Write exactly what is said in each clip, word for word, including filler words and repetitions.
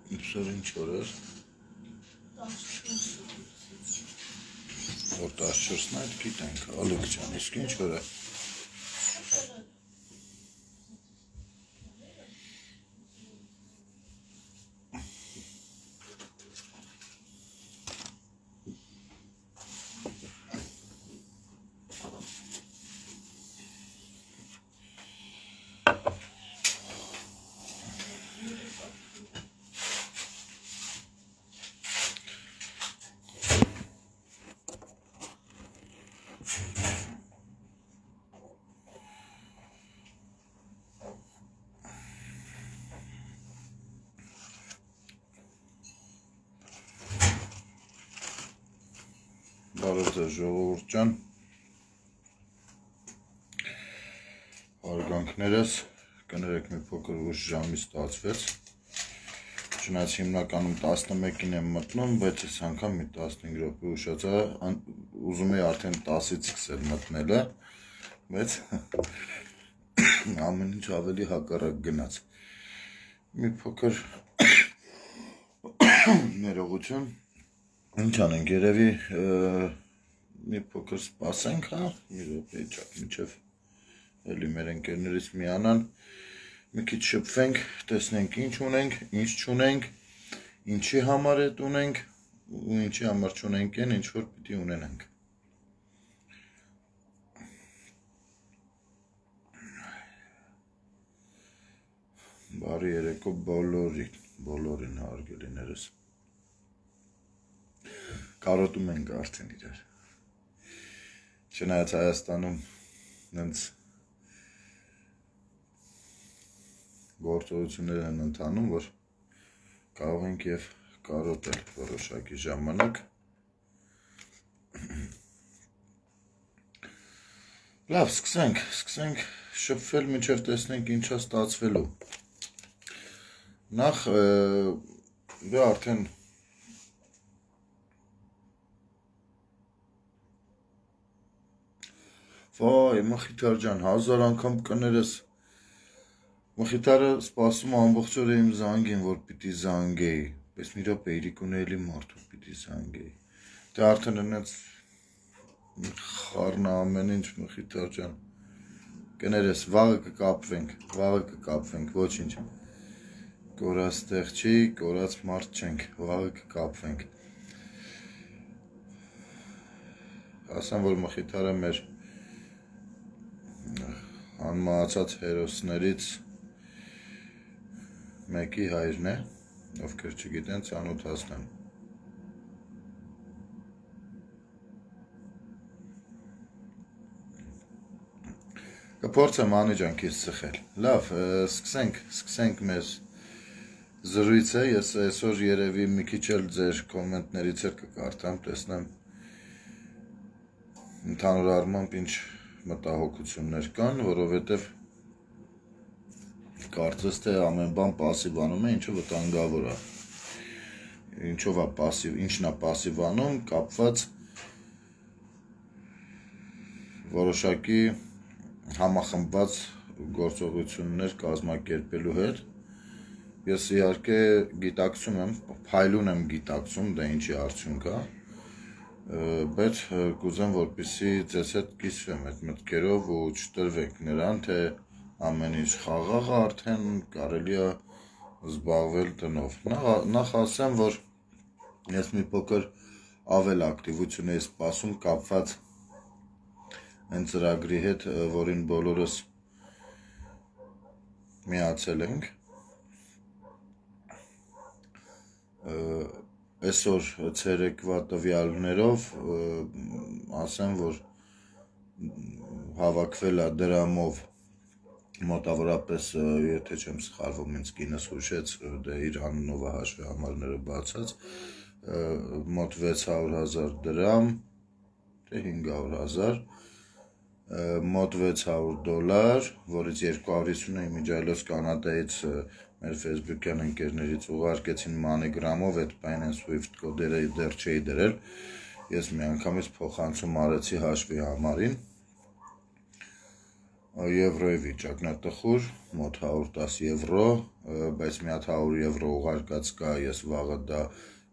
Այսօր ինչ օր էր։ Որ տասնչորսն այդ գիտենք, Ալեք ջան, իսկ ինչ օր է։ Բարև ձեզ ժողովուրդ ջան, հարգանքներս, կներեք մի փոքր ուշ ժամի ստացվեց, չնայած հիմնականում տասնմեկին եմ մտնում, բայց այս անգամ մի տասնհինգ րոպե ուշացա, ուզում էի արդեն տասից սկսել մտնելը, բայց ամեն ինչ ավելի հակառակ գնաց, մի փոքր ներողություն. Ինչ անենք, երևի մի փոքր սպասենք, հա, մի րոպե չափ մինչև էլի մեր ընկերներից միանան, մի քիչ շփվենք, տեսնենք ինչ ունենք, ինչ չունենք, ինչի համար է ունենք ու ինչի համար չունենք են, ինչ որ պիտի ունենանք։ Բարի երեկո բոլորին, բոլորին հարգելիներս։ Կարոտում ենք արդեն իրար։ Չնայած Հայաստանում նենց գործողություններ են ընթանում, որ կարող ենք և կարոտել որոշակի ժամանակ։ Լավ, սկսենք, սկսենք շփվել, մինչև տեսնենք ինչա ստացվելու։ Նախ դե արդեն Վայ, Մխիթար ջան, հազար անգամ կներես, Մխիթարը սպասում ամբողջ օրը իմ զանգին, որ պիտի զանգեի, պես մի րոպե իրիկուն էլի մարդու պիտի զանգեի, դե արդեն ընեց խառնա ամեն ինչ, Մխիթար ջան, կներես, վաղը կկապվենք, վաղը կկապվենք, ոչինչ, կորած տեղ չի, կորած մարդ չենք, վաղը կկապվենք, ասեմ, որ Մխիթարը մեր անմահացած հերոսներից մեկի հայրն է, ովքեր չգիտեն, ծանոթացնեմ։ Կփորձեմ Անի ջան քեզ ծխել։ Լավ, սկսենք, սկսենք մեր զրույցը, ես այսօր երևի մի քիչ էլ ձեր կոմենտներից էլ կկարդամ, տեսնեմ ընդհանուր առմամբ ինչ մտահոգություններ կան, որովհետև կարծես թե ամեն բան պասիվանում է, ինչը վտանգավոր է, ինչով է պասիվ, ինչն է պասիվանում, կապված որոշակի համախմբված գործողություններ կազմակերպելու հետ, ես իհարկե գիտակցում եմ, փայլուն եմ գիտակցում, դա ինչի արդյունք է, բայց կուզեմ, որպեսզի ձեզ հետ կիսվեմ այդ մտքերով ու չտրվեք նրան, թե ամեն ինչ խաղաղ է, արդեն կարելի է զբաղվել տնով։ Նախ ասեմ, որ ես մի փոքր ավել ակտիվություն էի սպասում կապված այն ծրագրի հետ, որին բոլորս միացել ենք։ Այսօր ցերեկվա տվյալներով ասեմ, որ հավաքվել է դրամով մոտավորապես, եթե չեմ սխալվում, ինձ կինս հուշեց, դե իր անունով հաշվի համարները բացած, մոտ վեց հարյուր հազար դրամ, թե հինգ հարյուր հազար, մոտ վեց հարյուր դոլար, որից երկու հարյուր հիսուն իմիջիայլոց Կանադայից մեր ֆեյսբուքյան ընկերներից ուղարկեցին MoneyGram-ով, այդ Binance Swift կոդերը դեռ չէի դրել, ես մի անգամից փոխանցում արեցի հաշվի համարին, եվրոյի վիճակն է տխուր, մոտ հարյուր տասը եվրո, բայց մի հատ հարյուր եվրո ուղարկած կա, ես վաղը դա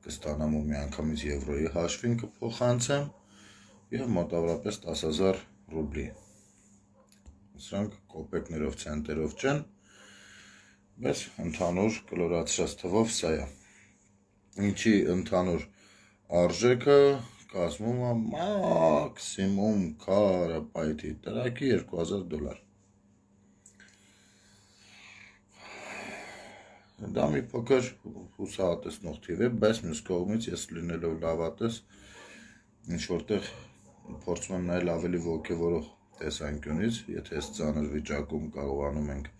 կստանամ ու միանգամից եվրոյի հաշվին կփոխանցեմ եւ մոտավորապես տասը հազար ռուբլի։ Սրանք կոպեկներով, ցենտերով չեն, բայց ընդհանուր կլորացրած թվով սա է։ Ինչի ընդհանուր արժեքը կազմում է մաքսիմում քարապայթի տրակի երկու հազար դոլար։ Դա մի փոքր հուսահատեցնող թիվ է, բայց մյուս կողմից ես լինելով լավատես ինչ որտեղ փորձում եմ նայել ավելի ոգևորող տեսանկյունից, եթե այս ծանր վիճակում կարողանում ենք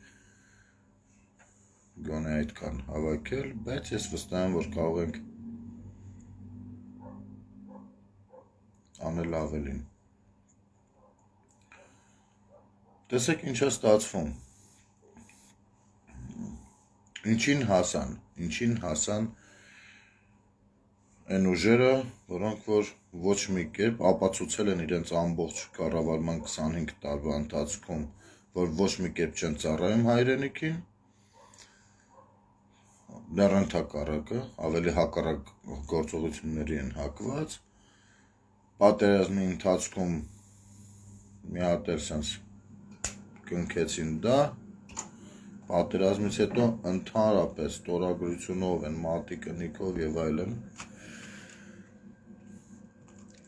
գոնե այդքան հավաքել, բայց ես վստահ եմ, որ կարող ենք անել ավելին։ Տեսեք ինչ է ստացվում։ Ինչին հասան, ինչին հասան այն ուժերը, որոնք որ ոչ մի կերպ ապացուցել են իրենց ամբողջ կառավարման քսանհինգ տարվա ընթացքում, որ ոչ մի կերպ չեն ծառայում հայրենիքին, դեռ ընդհակառակը, ավելի հակառակ գործողությունների են հակված, պատերազմի ընթացքում մի հատ էլ սենց կնքեցին դա, պատերազմից հետո ընդհանրապես ստորագրությունով են մատի կնիքով եւ այլն։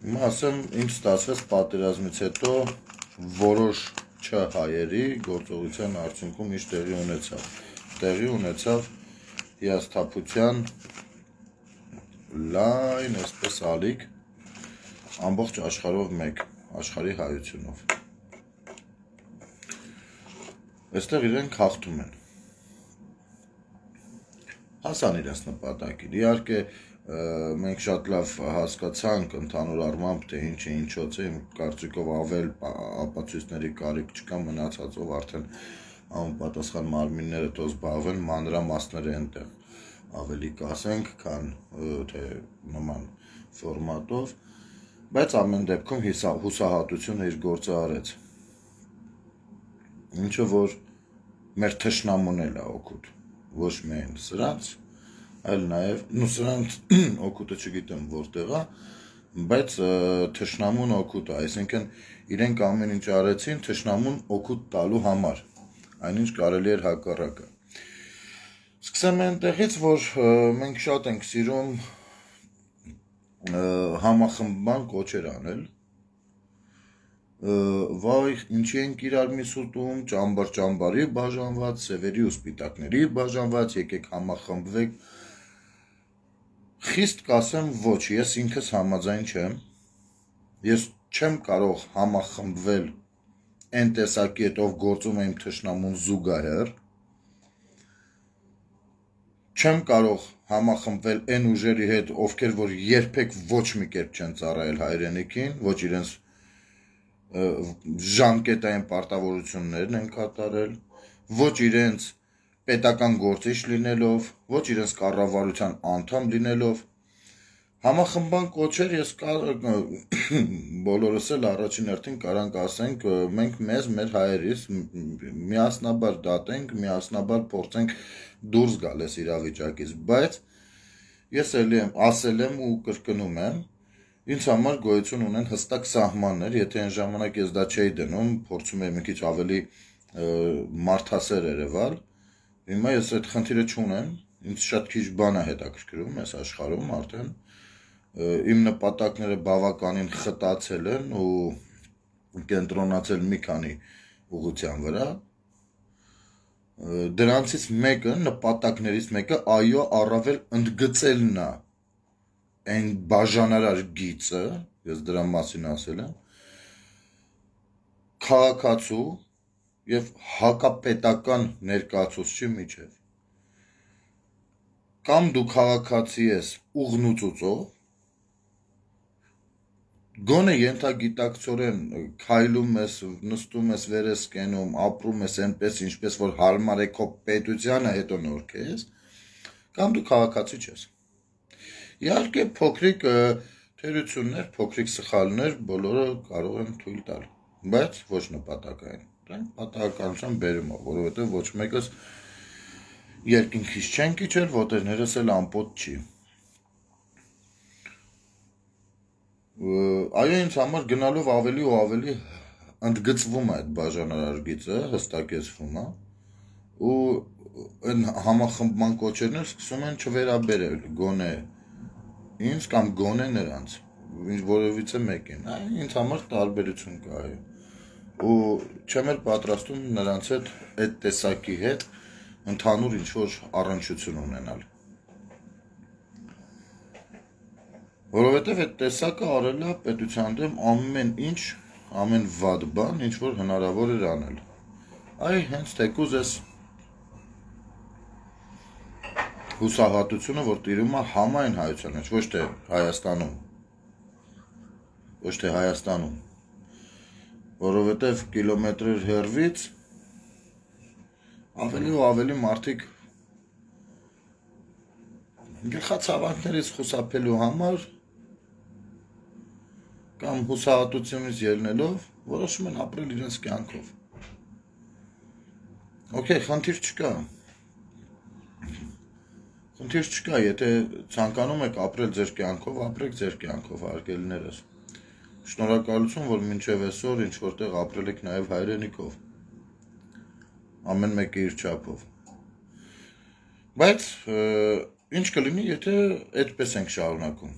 Հիմա ասեմ, ինչ ստացվեց պատերազմից հետո որոշ չհայերի գործողության արդյունքում ինչ տեղի ունեցավ։ Տեղի ունեցավ հիասթափության լայն, այսպես ալիք, ամբողջ աշխարհով մեկ, աշխարհի հայությունով։ Այստեղ իրենք հաղթում են։ Հասան իրենց նպատակին։ Իհարկե, մենք շատ լավ հասկացանք ընդհանուր առմամբ, թե ինչ է ինչոց է, իմ կարծիքով ավել ապացույցների կարիք չկա, մնացածով արդեն անպատասխան մարմինները թող զբաղվեն, մանրամասները այնտեղ ավելի կասենք, քան թե նման ֆորմատով, բայց ամեն դեպքում հուսահատությունը իր գործը արեց։ Ինչը որ մեր թշնամուն էլ է օգուտ, ոչ միայն սրանց, այլ նաև, նու սրանց օգուտը չգիտեմ որտեղ է, բայց թշնամուն օգուտ է, այսինքն իրենք ամեն ինչ արեցին թշնամուն օգուտ տալու համար, այնինչ կարելի էր հակառակը։ Սկսեմ այնտեղից, որ մենք շատ ենք սիրում համախմբման կոչեր անել, վայ, ինչի ենք իրար միս ուտում, ճամբար ճամբարի բաժանված, սևերի ու սպիտակների բաժանված, եկեք համախմբվեք։ Խիստ կասեմ ոչ, ես ինքս համաձայն չեմ, ես չեմ կարող համախմբվել այն տեսակի հետ, ով գործում է իմ թշնամուն զուգահեռ, չեմ կարող համախմբվել այն ուժերի հետ, ովքեր որ երբեք ոչ մի կերպ չեն ծառայել հայրենիքին, ոչ իրենց ժամկետային պարտավորություններն են կատարել, ոչ իրենց պետական գործիչ լինելով, ոչ իրենց կառավարության անդամ լինելով, համախմբան կոչեր ես բոլորս էլ առաջին հերթին կարանք ասենք, մենք մեզ մեր հայերիս միասնաբար դատենք, միասնաբար փորձենք դուրս գալ այս իրավիճակից, բայց ես էլի եմ ասել եմ ու կրկնում եմ, ինձ համար գոյություն ունեն հստակ սահմաններ, եթե այն ժամանակ ես դա չէի դնում, փորձում եմ մի քիչ ավելի մարդասեր երևալ, հիմա ես այդ խնդիրը չունեմ, ինձ շատ քիչ բան է հետաքրքրում այս աշխարհում արդեն, իմ նպատակները բավականին խտացել են ու կենտրոնացել մի քանի ուղղության վրա, դրանցից մեկը, նպատակներից մեկը, այո, առավել ընդգծելն է այն բաժանարար գիծը, ես դրա մասին ասել եմ, քաղաքացու եւ հակապետական ներկայացուցչի միջև։ Կամ դու քաղաքացի ես ուղնուծուծող, գոնե ենթագիտակցորեն քայլում ես, նստում ես, վեր ես կենում, ապրում ես այնպես, ինչպես որ հարմար է քո պետությանը հետո նորքես, կամ դու քաղաքացի չես։ Իհարկե փոքրիկ թերություններ, փոքրիկ սխալներ բոլորը կարող են թույլ տալ, բայց ոչ նպատակային։ դրանք պատահականության բերում է, որովհետև ոչ մեկս երկինքից չեն իջել, ոտերներս էլ ամպոտ չի։ Այո, ինձ համար գնալով ավելի ու ավելի ընդգծվում է այդ բաժանարար գիծը, հստակեցվում է, ու այն համախմբման կոչերն էլ սկսում են չվերաբերել գոնե ինձ կամ գոնե նրանց, որևիցե մեկին, ինձ համար տարբերություն կա, ու չեմ էլ պատրաստում նրանց հետ այդ տեսակի հետ ընդհանուր ինչ-որ առնչություն ունենալ։ Որովհետև այդ տեսակը արել է պետության դեմ ամեն ինչ, ամեն վատ բան, ինչ որ հնարավոր էր անել։ Այ հենց թեկուզ էս հուսահատությունը, որ տիրում է համայն հայության մեջ, ոչ թե Հայաստանում, ոչ թե Հայաստանում, որովհետև կիլոմետրեր հեռվից ավելի ու ավելի մարդիկ գլխացավանքներից խուսափելու համար կամ հուսահատությունից ելնելով որոշում են ապրել իրենց կյանքով։ Okay, խնդիր չկա։ Խնդիր չկա, եթե ցանկանում եք ապրել ձեր կյանքով, ապրեք ձեր կյանքով, հարգելիներս։ Շնորհակալություն, որ մինչև այսօր ինչ որտեղ ապրել եք նաև հայրենիքով։ Ամեն մեկը իր չափով։ Բայց ինչ կլինի, եթե այդպես ենք շարունակում։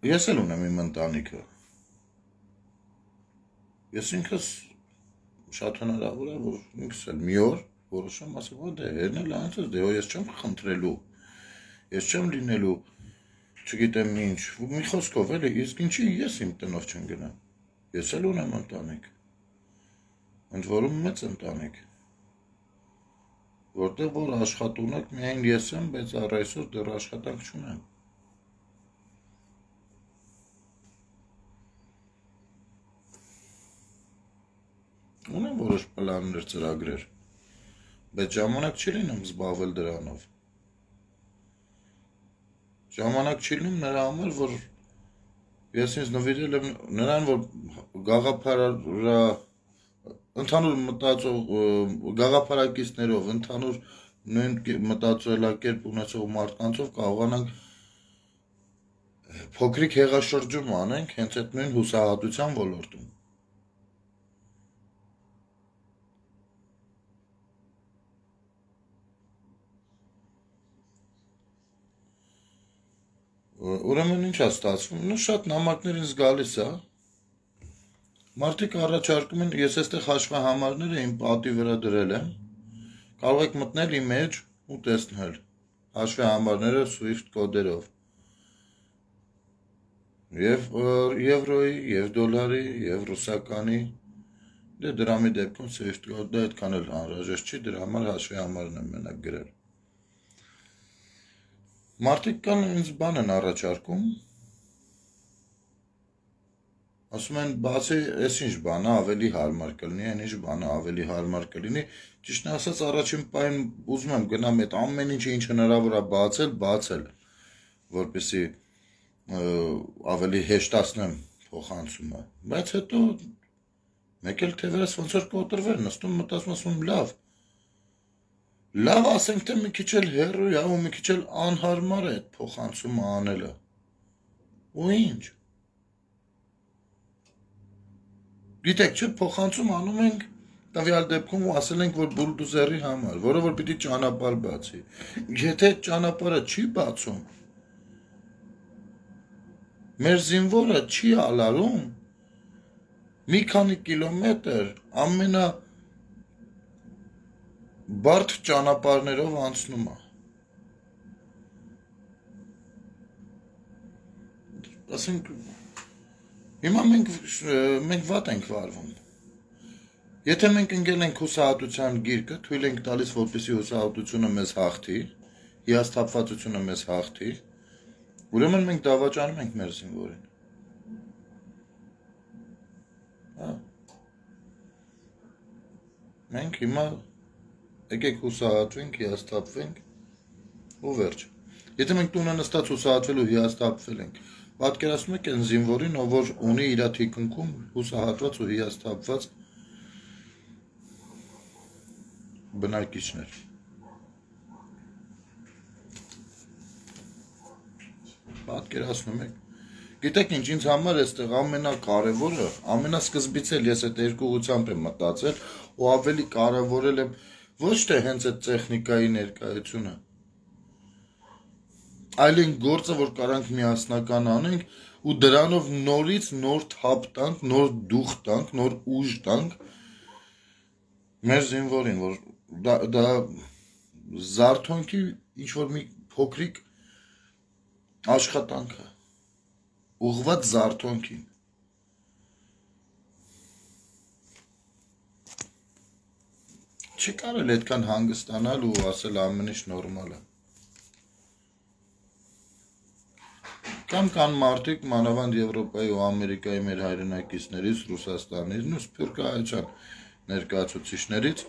Ես էլ ունեմ իմ ընտանիքը։ Ես ինքս շատ հնարավոր է, որ ինքս էլ մի օր որոշեմ ասեմ, որ դե հերնել անցած, դե ես չեմ խնդրելու, ես չեմ լինելու, չգիտեմ ինչ, մի խոսքով էլի, իսկ ինչի ես իմ տնով չեմ գնամ։ Ես էլ ունեմ ընտանիք։ Ընդ որում մեծ ընտանիք։ Որտեղ որ աշխատունակ միայն ես եմ, բայց առ այսօր դեռ աշխատանք չունեմ։ Ունեմ որոշ պլաններ, ծրագրեր, բայց ժամանակ չի լինում զբաղվել դրանով։ Ժամանակ չի լինում նրա համար, որ ես ինձ նվիրել եմ նրան, որ գաղափարա ընդհանուր մտածող գաղափարակիցներով, ընդհանուր նույն մտածելակերպ ունեցող մարդկանցով կարողանանք փոքրիկ հեղաշրջում անենք հենց այդ նույն հուսահատության ոլորտում։ Ուրեմն ինչ է ստացվում, նո շատ նամակներ ինձ գալիս է, մարդիկ առաջարկում են, ես այստեղ հաշվահամարները իմ պատի վրա դրել եմ, կարող եք մտնել իմ մեջ ու տեսնել, հաշվահամարները Swift կոդերով, և եվրոյի, և դոլարի, և ռուսականի, դե դրամի դեպքում Swift կոդը այդքան էլ անհրաժեշտ չի, դրա համար հաշվահամարն եմ մենակ գրել։ Մարդիկ կան ինձ բան են առաջարկում, ասում են բացի այս ինչ բանը ավելի հարմար կլինի, այն ինչ բանը ավելի հարմար կլինի, ճիշտ ասած առաջին պահին ուզում եմ գնամ այդ ամեն ինչը ինչ հնարավոր է բացել, բացել, որպեսզի ավելի հեշտացնեմ փոխանցումը, բայց հետո մեկ էլ թևերս ոնց որ կոտրվեր, նստում մտածում ասում լավ, լավ ասենք թե մի քիչ էլ հեռու է ու մի քիչ էլ անհարմար է այդ փոխանցումը անելը, ու ինչ, գիտեք չէ փոխանցում անում ենք տվյալ դեպքում ու ասել ենք, որ բուլդոզերի համար, որը որ պիտի ճանապարհ բացի, եթե այդ ճանապարհը չի բացում, մեր զինվորը չի ալարում, մի քանի կիլոմետր ամենա բարդ ճանապարհներով անցնում է։ Ասենք, հիմա մենք, մենք վատ ենք վարվում։ Եթե մենք ընկել ենք հուսահատության գիրկը, թույլ ենք տալիս, որպեսզի հուսահատությունը մեզ հաղթի, հիասթափվածությունը մեզ հաղթի, ուրեմն մենք դավաճանում ենք մեր զինվորին։ Մենք հիմա եկեք հուսահատվենք, հիասթափվենք ու վերջ։ Եթե մենք տունը նստած հուսահատվելու հիասթափվել ենք, պատկերացնում եք այն զինվորին, ով որ ունի իր թիկունքում հուսահատված ու հիասթափված բնակիչներ։ Պատկերացնում եք։ Գիտեք ինչ, ինձ համար այստեղ ամենակարևորը, ամենասկզբից էլ ես այդ երկու ուղղությամբ եմ մտածել ու ավելի կարևորել եմ ոչ թե հենց այդ տեխնիկայի ներկայությունը, այլ այն գործը, որ կարանք միասնական անենք ու դրանով նորից նոր թափ տանք, նոր դուխ տանք, նոր ուժ տանք մեր զինվորին, որ դա, դա զարթոնքի ինչ-որ մի փոքրիկ աշխատանք է, ուղղված զարթոնքին։ Չի կարել այդքան հանգստանալ ու ասել ամեն ինչ նորմալ է։ Կամ կան մարդիկ, մանավանդ Եվրոպայի ու Ամերիկայի մեր հայրենակիցներից, Ռուսաստանից, ու Սփյուռքահայության ներկայացուցիչներից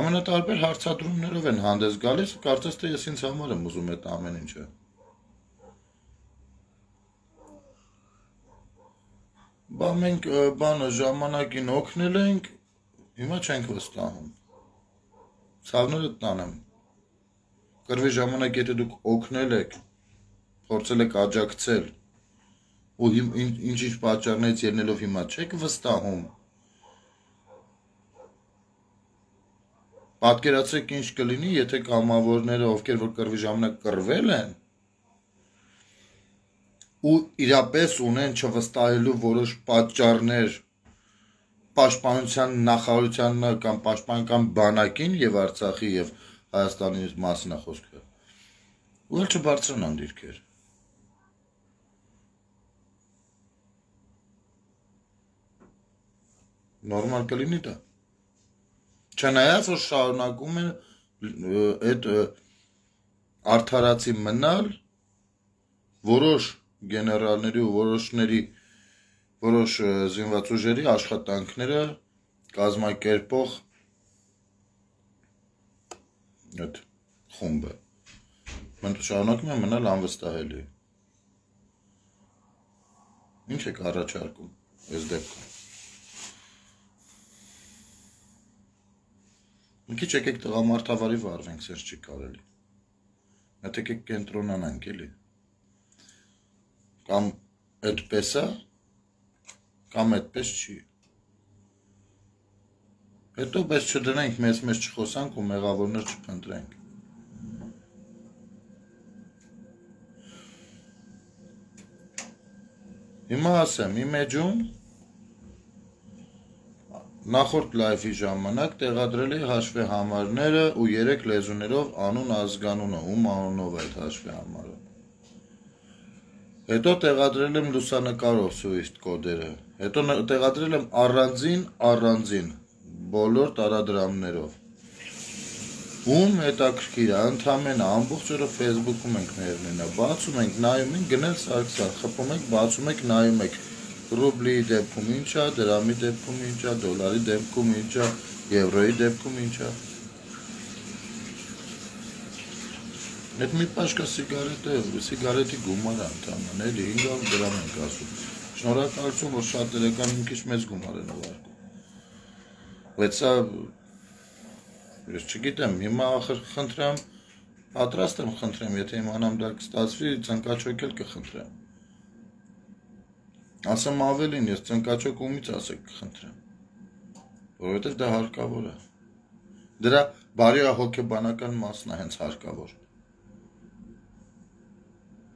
ամենատարբեր հարցադրումներով են հանդես գալիս, կարծես թե ես ինձ համար եմ ուզում այդ ամեն ինչը։ Բա մենք բանը ժամանակին օգնել ենք, հիմա չենք վստահում։ Ցավները տանեմ։ Կռվի ժամանակ եթե դուք օգնել եք, փորձել եք աջակցել ու ինչ-ինչ պատճառներից ելնելով հիմա չեք վստահում։ Պատկերացրեք ինչ կլինի, եթե կամավորները, ովքեր որ կռվի ժամանակ կռվել են, ու իրապես ունեն չվստահելու որոշ պատճառներ պաշտպանության նախարարությանը կամ պաշտպանական բանակին եւ Արցախի եւ Հայաստանի մասին է խոսքը։ Ու էլ չբարձրանան դիրքեր։ Նորմալ կլինի դա։ Չնայած որ շարունակում են այդ արդարացի մնալ որոշ գեներալների ու որոշների որոշ զինված ուժերի աշխատանքները կազմակերպող այդ խումբը մենք շարունակում ենք մնալ անվստահելի։ Ինչ եք առաջարկում այս դեպքում։ Մի քիչ եկեք տղամարդավարի վարվենք, սենց չի կարելի։ Մեկ եկեք կենտրոնանանք էլի։ Կամ այդպես է, կամ այդպես չի։ Հետո պես չդնենք, մեզ մեզ չխոսանք ու մեղավորներ չփնտրենք։ Հիմա ասեմ, իմ էջում նախորդ լայվի ժամանակ տեղադրել էի հաշվի համարները ու երեք լեզուներով անուն ազգանունը, ում անունով այդ հաշվի համարը։ Հետո տեղադրել եմ լուսանկարով Swift կոդերը, հետո տեղադրել եմ առանձին, առանձին, բոլոր տարադրամներով։ Ում հետաքրքիր է, ընդամենը ամբողջ օրը Facebook-ում ենք ներնինը, բացում ենք, նայում ենք, գնել Սարգսյան, խփում ենք, բացում ենք, նայում ենք, ռուբլի դեպքում ինչ է, դրամի դեպքում ինչ է, դոլարի դեպքում ինչ է, եվրոյի դեպքում ինչ է։ Այդ մի պաշկա սիգարետ է, սիգարետի գումար է ընդամենը, էլի հինգ հարյուր դրամ ենք ասում։ Շնորհակալություն, որ շատերը կան մի քիչ մեծ գումար են ուղարկում։ Բայց սա ես չգիտեմ, հիմա ախր խնդրեմ, պատրաստ եմ խնդրեմ, եթե իմանամ դա կստացվի, ծնկաչոք էլ կխնդրեմ։ Ասեմ ավելին, ես ծնկաչոք ումից ասեք կխնդրեմ, որովհետև դա հարկավոր է։ Դրա բարոյահոգեբանական մասն է հենց հարկավոր։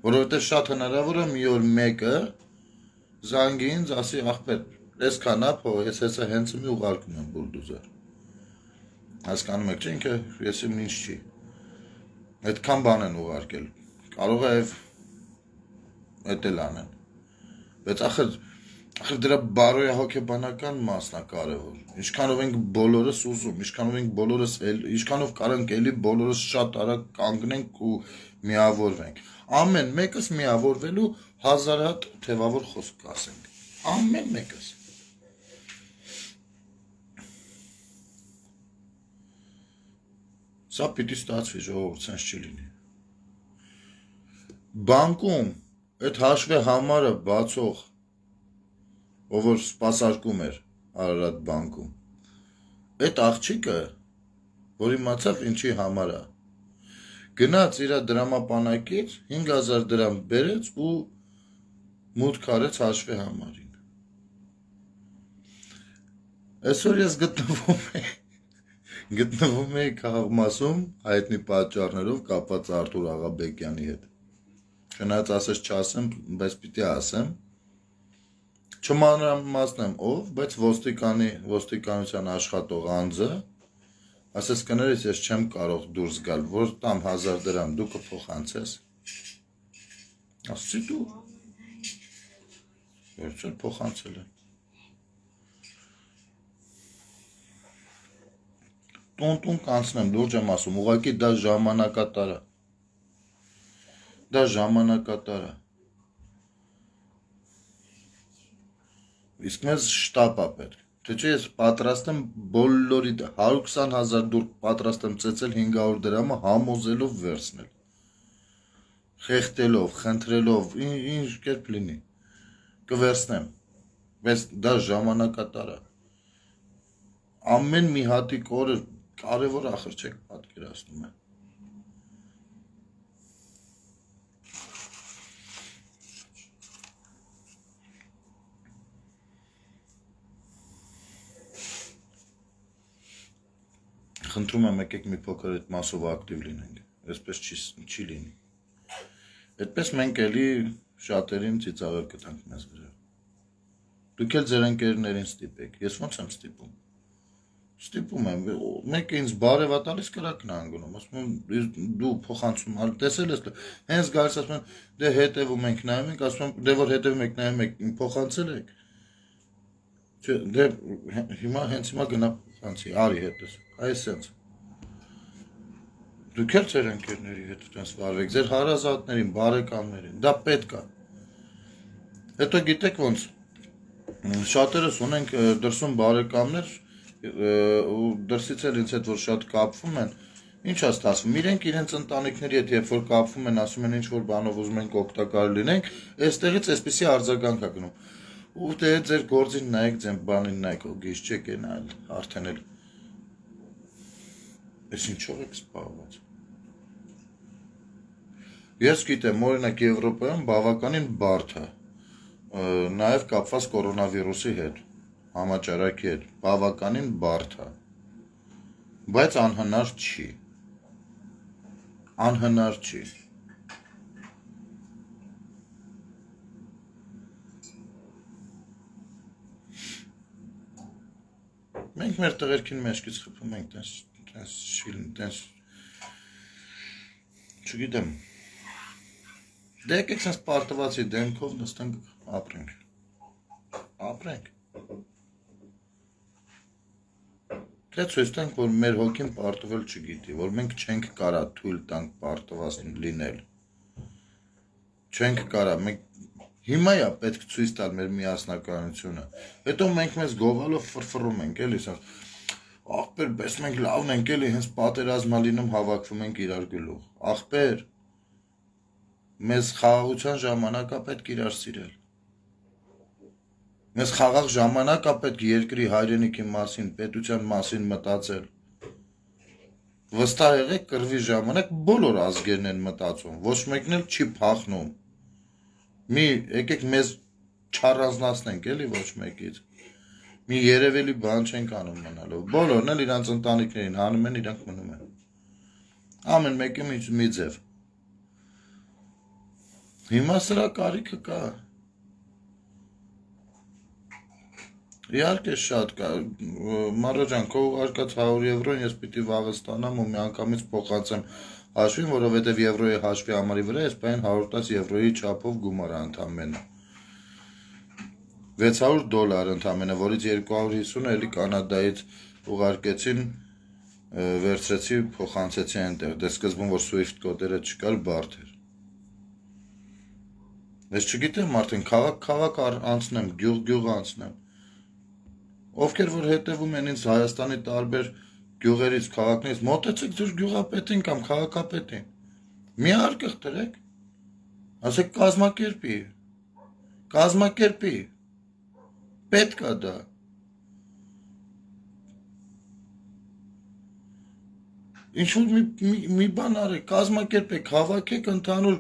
Որովհետև շատ հնարավոր է մի օր մեկը զանգի ինձ ասի ախպեր, այսքան է փող, ես հեսա հենց մի ուղարկում եմ բուլդոզեր։ Հասկանում եք, չէ՞ ինքը ես իմ ինչ չի։ Այդքան բան են ուղարկել։ Կարող է եւ էդ էլ անեն։ Բայց ախր ախր դրա բարոյահոգեբանական մասն է կարևոր։ Ինչքանով ենք բոլորս ուզում, ինչքանով ենք բոլորս ինչքանով կարանք էլի բոլորս շատ արագ կանգնենք ու միավորվենք։ Ամեն մեկս միավորվելու հազար հատ թևավոր խոսք ասենք։ Ամեն մեկս։ Սա պիտի ստացվի, ժողովուրդ, սենց չի լինի։ բանկում այդ հաշվի համարը բացող ով որ սպասարկում էր Արարատ բանկում այդ աղջիկը որ իմացավ ինչի համար է գնաց իր դրամապանակից հինգ հազար դրամ բերեց ու մուտք արեց հաշվի համարին այսօր ես գտնվում եմ գտնվում եմ քաղաքմասում հայտնի պատճառներով կապված Արթուր Աղաբեկյանի հետ չնայած ասես չասեմ բայց պիտի ասեմ չմանրամասնեմ ով բայց ոստիկանի ոստիկանության աշխատող անձը ասես կներես ես չեմ կարող դուրս գալ որ տամ հազար դրամ դու կփոխանցես ասեցի դու վերջը փոխանցել եմ տուն-տուն կանցնեմ լուրջ եմ ասում ուղղակի դա ժամանակատար է դա ժամանակատար է իսկ մեզ շտապ է պետք թե չէ ես պատրաստ եմ բոլորի հարյուր քսան հազար դուր պատրաստ եմ ծեծել հինգ հարյուր դրամը համոզելով վերցնել խեղդելով խնդրելով ինչ կերպ լինի կվերցնեմ բայց դա ժամանակատար է ամեն մի հատիկ օրը կարևոր ախր չեք պատկերացնում է խնդրում եմ եկեք մի փոքր այդ մասով ակտիվ լինենք այսպես չի չի լինի այդպես մենք էլի շատերին ծիծաղել կտանք մեզ վրա դուք էլ ձեր ընկերներին ստիպեք ես ոնց եմ ստիպում ստիպում եմ մեկը ինձ բարև է տալիս կրակն է անգնում ասում եմ դու փոխանցում ալ տեսել ես հենց գալիս ասում եմ դե հետևում ենք նայում ենք ասում եմ դե որ հետևում եք նայում եք փոխանցել եք չէ դե հիմա հենց հիմա գնա փոխանցի արի հետս այսպես դուք էլ ձեր ընկերների հետ այդպես վարվեք ձեր հարազատներին բարեկամներին դա պետք է հետո գիտեք ոնց շատերս ունենք դրսում բարեկամներ ու դրսից էլ ինձ հետ որ շատ կապվում են ինչ է ստացվում իրենք իրենց ընտանիքների հետ երբ որ կապվում են ասում են ինչ որ բանով ուզում ենք օգտակար լինենք այստեղից այսպեսի արձագանք է գնում ու դե ձեր գործին նայեք ձեր բանին նայեք գիշ չեք նայել արդեն էլ Ես ինչով եք սպառված Ես գիտեմ օրինակ Եվրոպայում բավականին բարդ է նաև կապված կորոնավիրուսի հետ համաճարակի հետ բավականին բարդ է բայց անհնար չի անհնար չի մենք մեր տղերքին մեջքից խփում ենք տես տես շիլն տես չգիտեմ դե եկեք sense պարտվածի դեմքով նստենք ապրենք ապրենք Թե ցույց տանք, որ մեր հոգին պարտվել չգիտի, որ մենք չենք կարա թույլ տանք պարտված լինել։ Չենք կարա, մենք հիմա է պետք ցույց տալ մեր միասնականությունը։ Հետո մենք մեզ գովալով ֆրֆռում ենք, էլի, ասած, ախպեր, պես մենք լավն ենք, էլի, հենց պատերազմա լինում հավաքվում ենք իրար գլուխ։ Ախպեր, մեզ խաղաղության ժամանակ է պետք իրար սիրել։ Մեզ խաղաղ ժամանակ է պետք երկրի հայրենիքի մասին, պետության մասին մտածել։ Վստահ եղեք կռվի ժամանակ բոլոր ազգերն են մտածում, ոչ մեկն էլ չի փախնում։ Մի եկեք մեզ չառանձնացնենք, էլի ոչ մեկից։ Մի երևելի բան չենք անում մնալով։ Բոլորն էլ իրանց ընտանիքներին հանում են, իրանք մնում են։ Ամեն մեկը մի ձև։ Հիմա սրա կարիքը կա։ Իհարկե շատ կա, Մարո ջան, քո ուղարկած հարյուր եվրոն ես պիտի վաղը ստանամ ու միանգամից փոխանցեմ հաշվին, որովհետև եվրոյի հաշվի համարի վրա ես պայն հարյուր տասը եվրոյի չափով գումար ընդամենը։ վեց հարյուր դոլար ընդամենը, որից երկու հարյուր հիսունը էլի Կանադայից ուղարկեցին, վերցրեցի, փոխանցեցի այնտեղ, դե սկզբում որ Swift կոդերը չկար, բարդ էր։ Ես չգիտեմ արդեն քաղաք-քաղաք անցնեմ, գյուղ-գյուղ անցնեմ։ Ովքեր որ հետևում են ինձ Հայաստանի տարբեր գյուղերից, քաղաքներից, մոտեցեք ձեր գյուղապետին կամ քաղաքապետին։ Մի արկղ դրեք։ Ասեք կազմակերպի, կազմակերպի, պետք է դա։ Ինչ-որ մի, մի, մի բան արեք, կազմակերպեք, հավաքեք ընդհանուր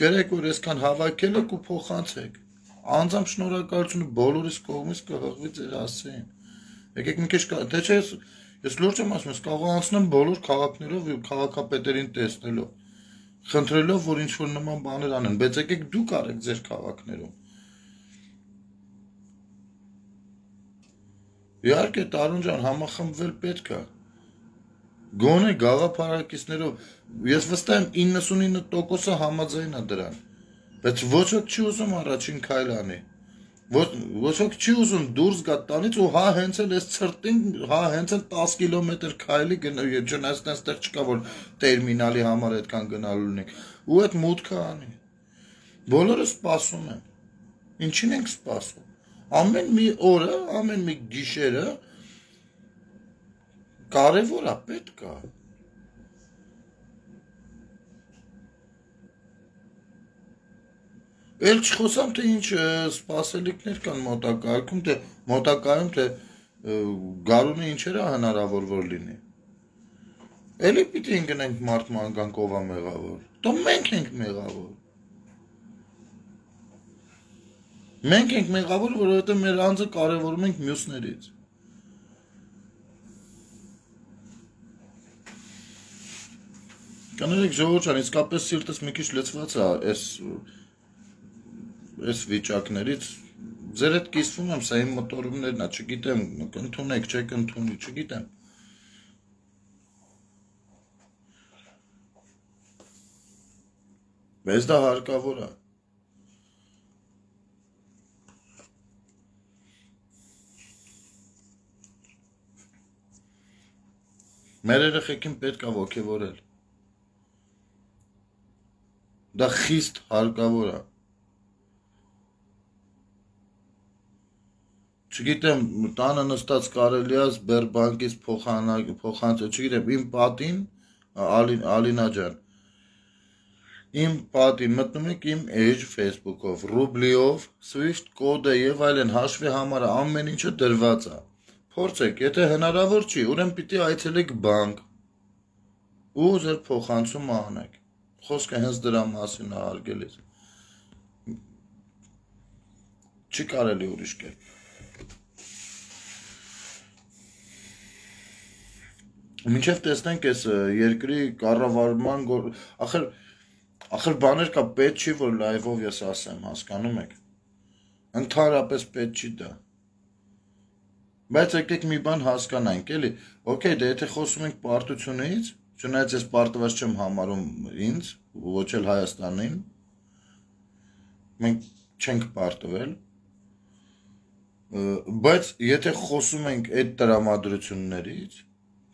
գրեք, որ այսքան հավաքել եք ու փոխանցեք։ Անձամբ շնորհակալությունը բոլորիս կողմից կհղվի ձեր հասցեին։ Եկեք մի քիչ, թե չէ ես լուրջ եմ ասում, ես կարող անցնեմ բոլոր քաղաքներով ու քաղաքապետերին տեսնելով, խնդրելով, որ ինչ-որ նման բաներ անեն, բայց եկեք դուք արեք ձեր քաղաքներում։ Իհարկե, Տարոն ջան, համախմբվել պետք է։ Գոնե գաղափարակիցներով, ես վստահ եմ իննսունինը տոկոսը համաձայն է դրան, բայց ոչ ոք չի ուզում առաջին քայլ անի, ոչ ոք չի ուզում դուրս գա տանից ու հա հենց էլ այս ցրտին, հա հենց էլ տասը կիլոմետր քայլի չնայած այստեղ չկա որ տերմինալի համար այդքան գնալու ունենք, ու այդ մուտքը անի, բոլորը սպասում են, ինչին ենք սպասում, ամեն մի օրը, ամեն մի գիշերը կարևոր է, պետք է։ Էլ չխոսամ, թե ինչ սպասելիքներ կան մոտակայքում, թե մոտակայում, թե գարունը ինչեր է հնարավոր որ լինի։ Էլի պիտի ընկնենք մարդ մանկանք ով է մեղավոր։ Դա մենք ենք մեղավոր։ Մենք ենք մեղավոր, որովհետև մեր անձը կարևորում ենք մյուսներից։ Կներեք ժողովուրդ ջան, իսկապես սիրտս մի քիչ լցված է այս այս վիճակներից, ձեր հետ կիսվում եմ, սա իմ մտորումներն է, չգիտեմ, կընդունեք, չեք ընդունի, չգիտեմ։ Բայց դա հարկավոր է։ Մեր երեխեքին պետք է ոգևորել։ Դա խիստ հարկավոր է։ Չգիտեմ, տանը նստած կարելի է Սբերբանկից փոխանցել, չգիտեմ, իմ պատին, Ալինա ջան, իմ պատին մտնում եք իմ Edge Facebook-ով, ռուբլիով, Swift կոդը եւ այլն հաշվի համարը ամեն ինչը դրված է։ Փորձեք, եթե հնարավոր չի, ուրեմն պիտի այցելեք բանկ ու ձեր փոխանցումը անեք։ Խոսքը հենց դրա մասին է հարգելիս։ Չի կարելի ուրիշ կերպ։ Մինչև տեսնենք այս երկրի կառավարման գոր, ախր ախր բաներ կա, պետք չի որ լայվով ես ասեմ, հասկանում եք։ Ընդհանրապես պետք չի դա։ Բայց եկեք մի բան հասկանանք, էլի։ Okay, դե եթե խոսում ենք պարտությունից, չնայած ես պարտված չեմ համարում ինձ, ոչ էլ Հայաստանին, մենք չենք պարտվել, բայց եթե խոսում ենք այդ տրամադրություններից,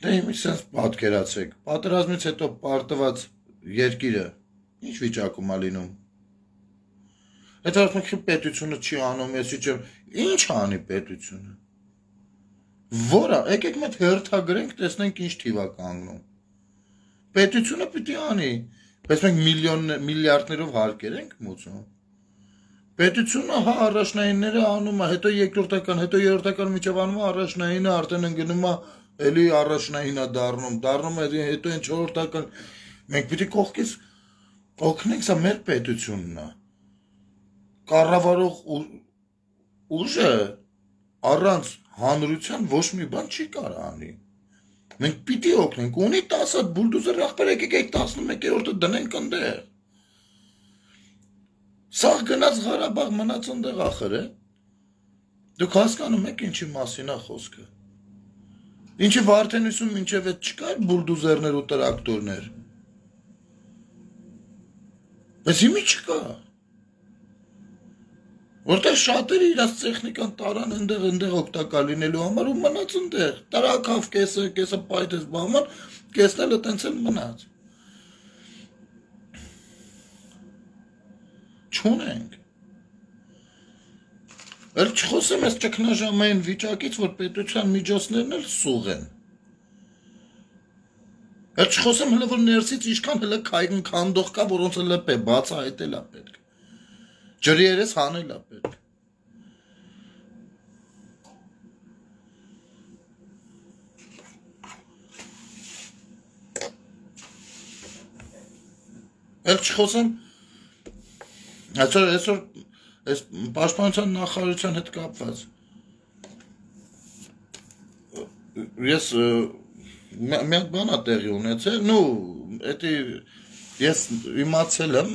դե իմի սենց պատկերացեք, պատերազմից հետո պարտված երկիրը, ինչ վիճակում է լինում, այդ ասում պետությունը չի անում, ես չեմ, ինչ անի պետությունը, որը, եկեք մետ հերթագրենք, տեսնենք ինչ թիվ է կանգնում, պետությունը պիտի անի, բայց մենք միլիարդներով հարկեր ենք մուծում, պետությունը հա առաջնայինները անում է, հետո երկրորդական, հետո երրորդական միջև անում է առաջնայինը, արդեն ընկնում է, էլի առաջնային է դառնում, դառնում է հետո այն չորրորդական, մենք պիտի կողքից օգնենք, սա մեր պետությունն է, կառավարող ուժը առանց հանրության ոչ մի բան չի կարող անի, մենք պիտի օգնենք, ունի տասը հատ բուլդոզեր ախպեր եկեք այդ տասնմեկերորդը դնենք ընդեղ, սաղ գնաց Ղարաբաղ մնաց ընդեղ ախր է, դուք հասկանում եք ինչի մասին է խոսքը, ինչի Վարդենիսում մինչև այդ չկար բուլդոզերներ ու տրակտորներ, բայց հիմի չկա, որտեղ շատերը իրաց տեխնիկան տարան ընդեղ ընդեղ օգտակար լինելու համար ու մնաց ընդեղ, տրակավ կեսը, կեսը պայթեց բաման, կեսն էլ տենց էլ մնաց, չունենք, էլ չխոսեմ ես ճգնաժամային վիճակից, որ պետության միջոցներն էլ սուղ են, Էլ չխոսեմ հələ որ ներսից ինչքան հələ քայքն քանդող կա, որոնց հələ պե բացահայտել է պետք։ Ջրի երես հանել է պետք։ Էլ չխոսեմ այսօր այսօր այս պաշտպանության նախարարության հետ կապված ես մեկ բան է տեղի ունեցել, նու էդի ես իմացել եմ,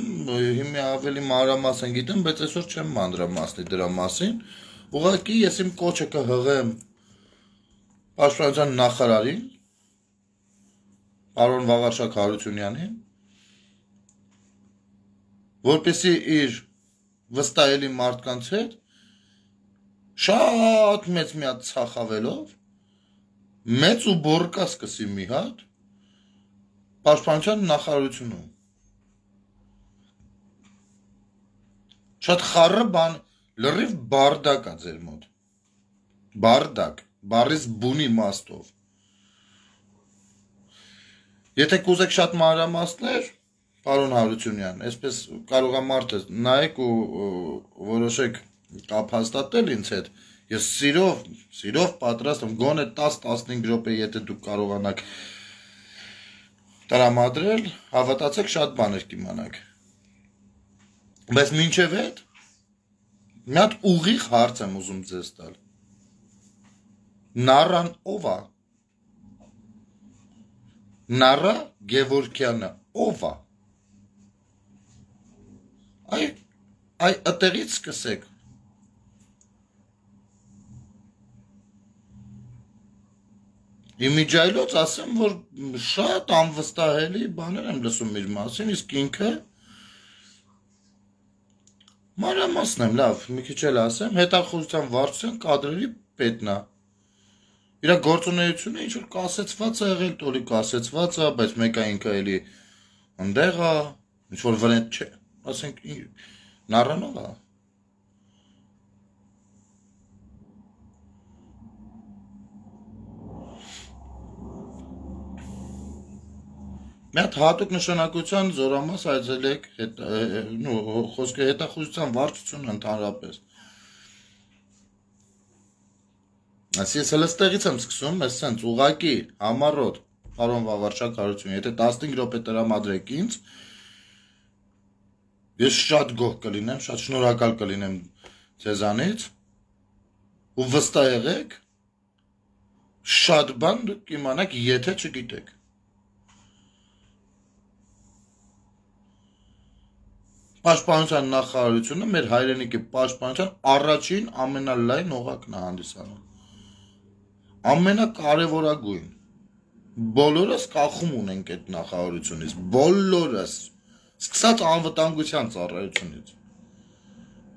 հիմա ավելի մանրամասն գիտեմ, բայց այսօր չեմ մանրամասնի դրա մասին, ուղղակի ես իմ կոչը կհղեմ պաշտպանության նախարարին, պարոն Վաղարշակ Հարությունյանին, որպեսզի իր վստահելի մարդկանց հետ շատ մեծ մի հատ ցախավելով մեծ ու բորկա սկսի մի հատ պաշտպանության նախարարությունում շատ խառը բան լրիվ բարդակ է ձեր մոտ բարդակ բառից բունի իմաստով եթե կուզեք շատ մանրամասներ Պարոն Հարությունյան, այսպես կարող է մարդը նայեք ու որոշեք կապ հաստատել ինձ հետ, ես սիրով, սիրով պատրաստ եմ, գոնե տաս տասնհինգ րոպե, եթե դուք կարողանաք տրամադրել, հավատացեք շատ բաներ կիմանաք։ Բայց մինչև այդ, մի հատ ուղիղ հարց եմ ուզում ձեզ տալ։ Նարան ով է։ Նարա Գևորգյանը ով է։ Այ այ ըտեղից սկսեք։ Իմիջայլոց ասեմ, որ շատ անվստահելի բաներ եմ լսում իր մասին, իսկ ինքը մանրամասն եմ, լավ, մի քիչ էլ ասեմ, հետախուզության վարչության կադրերի պետն է։ Իր գործունեությունը ինչ որ կասեցված է եղել, տոլի կասեցված է, բայց մեկը ինքը էլի ընդեղ է, ինչ որ վրենտ չէ։ Ասենք նառանով է։ Մի հատ հատուկ նշանակության զորամաս այցելեք, խոսքը հետախուզության վարչությունը ընդհանրապես։ Այսինքն ես հենց տեղից եմ սկսում, ես սենց ուղակի համառոտ, պարոն Վաղարշակ Հարություն, եթե տասնհինգ րոպե տրամադրեք ինձ, ես շատ գոհ կլինեմ, շատ շնորհակալ կլինեմ ձեզանից ու վստահ եղեք, շատ բան դուք կիմանաք, եթե չգիտեք։ Պաշտպանության նախարարությունը մեր հայրենիքի պաշտպանության առաջին ամենալայն օղակն է հանդիսանում։ Ամենակարևորագույն։ Բոլորս կախում ունենք այդ նախարարությունից, բոլորս Սկսած անվտանգության ծառայությունից,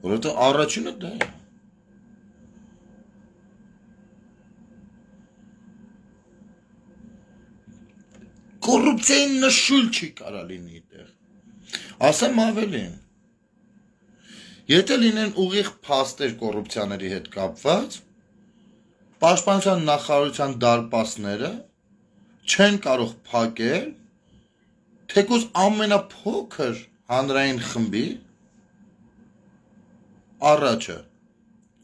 որովհետև առաջինը դա է։ Կոռուպցիայի նշույլ չի կարա լինի այդտեղ։ Ասեմ ավելին։ Եթե լինեն ուղիղ փաստեր կոռուպցիաների հետ կապված, պաշտպանության նախարարության դարպասները չեն կարող փակել թեկուզ ամենափոքր հանրային խմբի առաջը,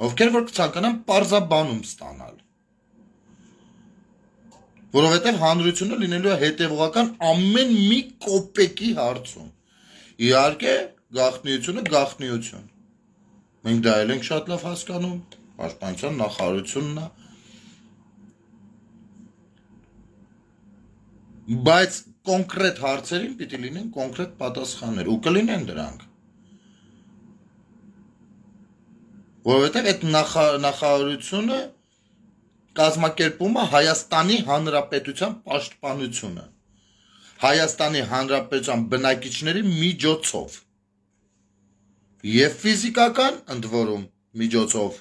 ովքեր որ կցանկանան պարզաբանում ստանալ, որովհետև հանրությունը լինելու է հետևողական ամեն մի կոպեկի հարցում, իհարկե գաղտնիությունը գաղտնիություն, մենք դա էլ ենք շատ լավ հասկանում, պաշտպանության նախարարությունն է, բայց կոնկրետ հարցերին պիտի լինեն կոնկրետ պատասխաններ ու կլինեն դրանք։ Որովհետև այդ նախարարությունը կազմակերպում է Հայաստանի Հանրապետության պաշտպանությունը։ Հայաստանի Հանրապետության բնակիչների միջոցով։ Եվ ֆիզիկական ընդ որում միջոցով,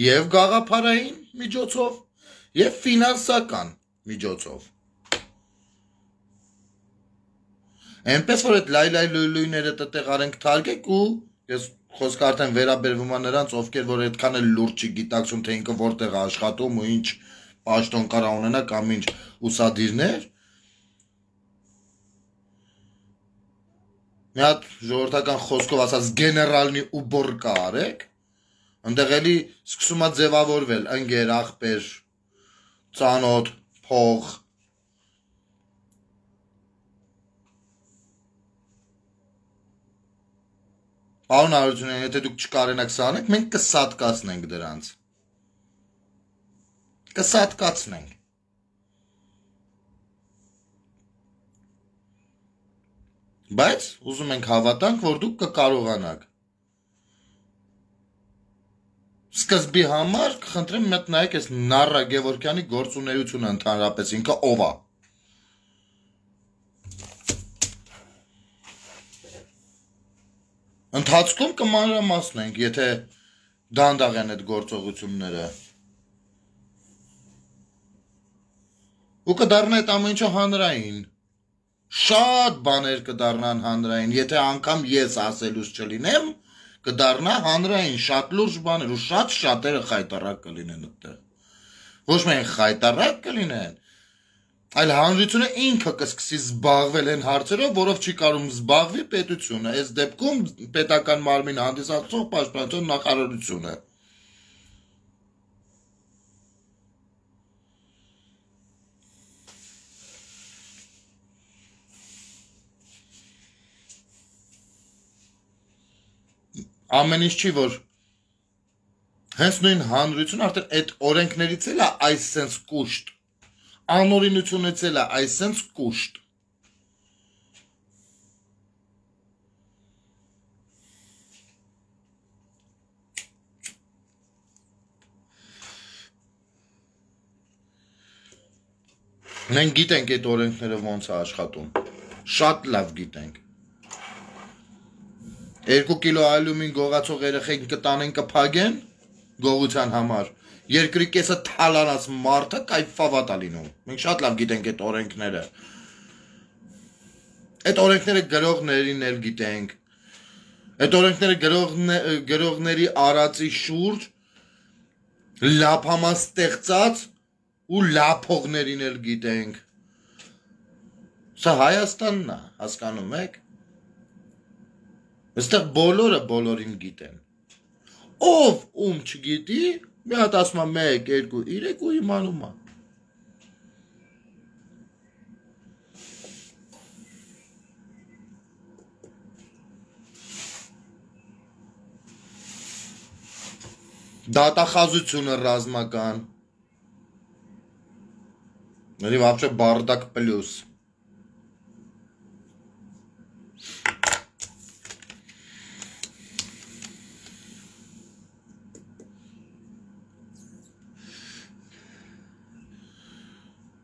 եւ գաղափարային միջոցով, եւ ֆինանսական միջոցով։ Այնպես որ այդ լայ-լայ լույները տտեղ արենք թարգեք ու ես խոսքը արդեն վերաբերվում է նրանց, ովքեր որ այդքան էլ լուրջ չգիտակցում, թե ինքը որտեղ է աշխատում ու ինչ պաշտոն կարա ունենա կամ ինչ ուսադիրներ, մի հատ ժողովրդական խոսքով ասած գեներալնի ուբորկա արեք, ընդեղ էլի սկսում է ձևավորվել ընկեր, աղբեր, ծանոթ, փող։ Պարոն Հարությունյան, եթե դուք չկարենաք սա անեք, մենք կսատկացնենք դրանց։ Կսատկացնենք։ Բայց ուզում ենք հավատանք, որ դուք կկարողանաք։ Սկզբի համար կխնդրեմ մեկ նայեք այս Նառա Գևորգյանի գործունեությունը ընդհանրապես ինքը ով է։ Ընթացքում կմանրամասնենք, եթե դանդաղ են այդ գործողությունները։ Ու կդառնա այդ ամեն ինչը հանրային։ Շատ բաներ կդառնան հանրային, եթե անգամ ես ասելուց չլինեմ, կդառնա հանրային, շատ լուրջ բաներ ու շատ շատերը խայտարակ կլինեն այդտեղ։ Ոչ միայն խայտարակ կլինեն, այլ հանրությունը ինքը կսկսի զբաղվել այն հարցերով, որով չի կարող զբաղվի պետությունը, այս դեպքում պետական մարմին հանդիսացող պաշտպանության նախարարությունը։ Ամեն ինչ չի, որ հենց նույն հանրությունը արդեն այդ օրենքներից էլ է այս սենց կուշտ, անօրինությունից էլ է այս սենց կուշտ։ Մենք գիտենք այդ օրենքները ոնց է աշխատում, շատ լավ գիտենք։ Երկու կիլո ալյումին գողացող երեխեքին կտանեն կփագեն գողության համար, երկրի կեսը թալանած մարդը կայֆավատ է լինում։ Մենք շատ լավ գիտենք այդ օրենքները։ Այդ օրենքները գրողներին էլ գիտենք։ Այդ օրենքները գրողների արածի շուրջ լափամաս ստեղծած ու լափողներին էլ գիտենք։ Սա Հայաստանն է, հասկանում եք։ Այստեղ բոլորը բոլորին գիտեն։ Ով ում չգիտի, մի հատ ասում է մեկ, երկու, երեք ու իմանում է։ Դատախազությունը ռազմական։ Նորի вообще բардակ պլյուս։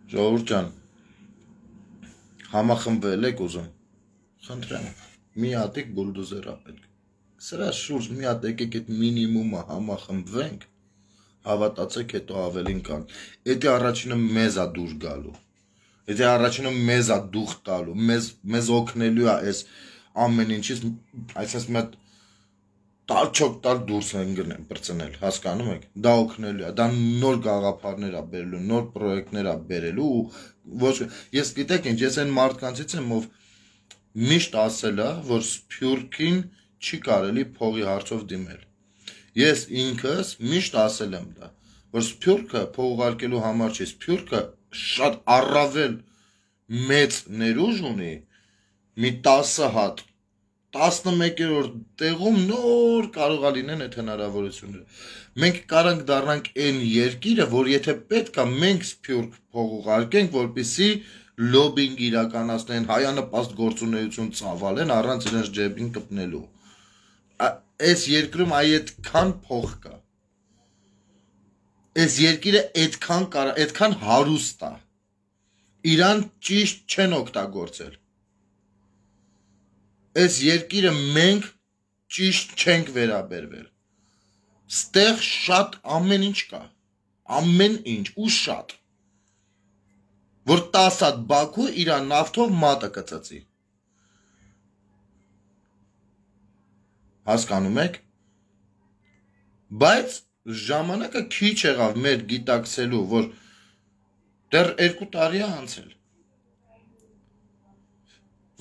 Ժողովուրդ ջան, համախմբվել եք ուզում, խնդրեմ, մի հատիկ բուլդոզեր ապետք, սրա շուրջ մի հատ եկեք այդ մինիմումը համախմբվենք, հավատացեք հետո ավելին կան, էդի առաջինը մեզ է դուր գալու, էդի առաջինը մեզ է դուխ տալու, մեզ օգնելու է այս ամեն ինչից, այսպես մի հատ տալ չոք տալ դուրս են գնեն պրծնել, հասկանում եք, դա օգնելու է, դա նոր գաղափարներ է բերելու, նոր պրոյեկտներ է բերելու, ոչ, ես գիտեք ինչ, ես այն մարդկանցից եմ, ով միշտ ասել է, որ Սփյուռքին չի կարելի փողի հարցով դիմել, ես ինքս միշտ ասել եմ դա, որ Սփյուռքը փող ուղարկելու համար չի, Սփյուռքը շատ առավել մեծ ներուժ ունի, մի տասը հատ, տասնմեկերորդ տեղում նոր կարող է լինեն այդ հնարավորությունները։ Մենք կարանք դառնանք այն երկիրը, որ եթե պետք է մենք Սփյուռք փող ուղարկենք, որպեսզի լոբինգ իրականացնեն, հայանպաստ գործունեություն ծավալեն առանց իրենց ջեբին կպնելու։ Այս երկրում այդքան փող կա։ Այս երկիրը այդքան կարա, այդքան հարուստ է։ Իրան ճիշտ չեն օգտագործել։ Այս երկիրը մենք ճիշտ չենք վերաբերվել։ Ստեղ շատ ամեն ինչ կա, ամեն ինչ ու շատ, որ տասը հատ Բաքու իր նավթով մատը կծծի։ Հասկանում եք։ Բայց ժամանակը քիչ եղավ մեր գիտակցելու, որ դեռ երկու տարի է անցել,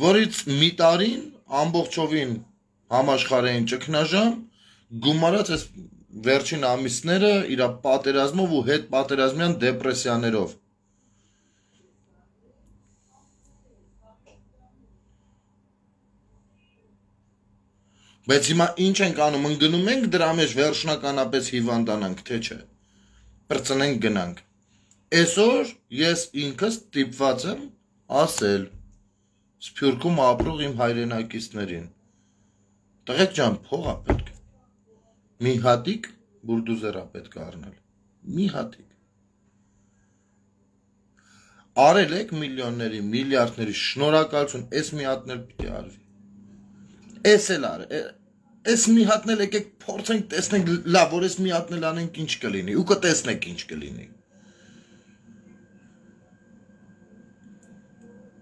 որից մի տարին ամբողջովին համաշխարհային ճգնաժամ, գումարած այս վերջին ամիսները իր պատերազմով ու հետ պատերազմյան դեպրեսիաներով։ Բայց հիմա ինչ ենք անում, ընկնում ենք դրա մեջ վերջնականապես հիվանդանանք, թե չէ։ Պրծնենք գնանք։ Այսօր ես ինքս տիպված եմ ասել Սփյուռքում ապրող իմ հայրենակիցներին։ Տղեկ ջան, փող է պետք։ Մի հատիկ բուլդոզեր է պետք առնել։ Մի հատիկ։ Արել եք միլիոնների, միլիարդների շնորհակալություն, այս մի հատն էլ պիտի արվի։ Էս էլ արը, էս մի հատն էլ եկեք փորձենք տեսնենք լավ, որ էս մի հատն էլ անենք ինչ կլինի, ու կտեսնենք ինչ կլինի։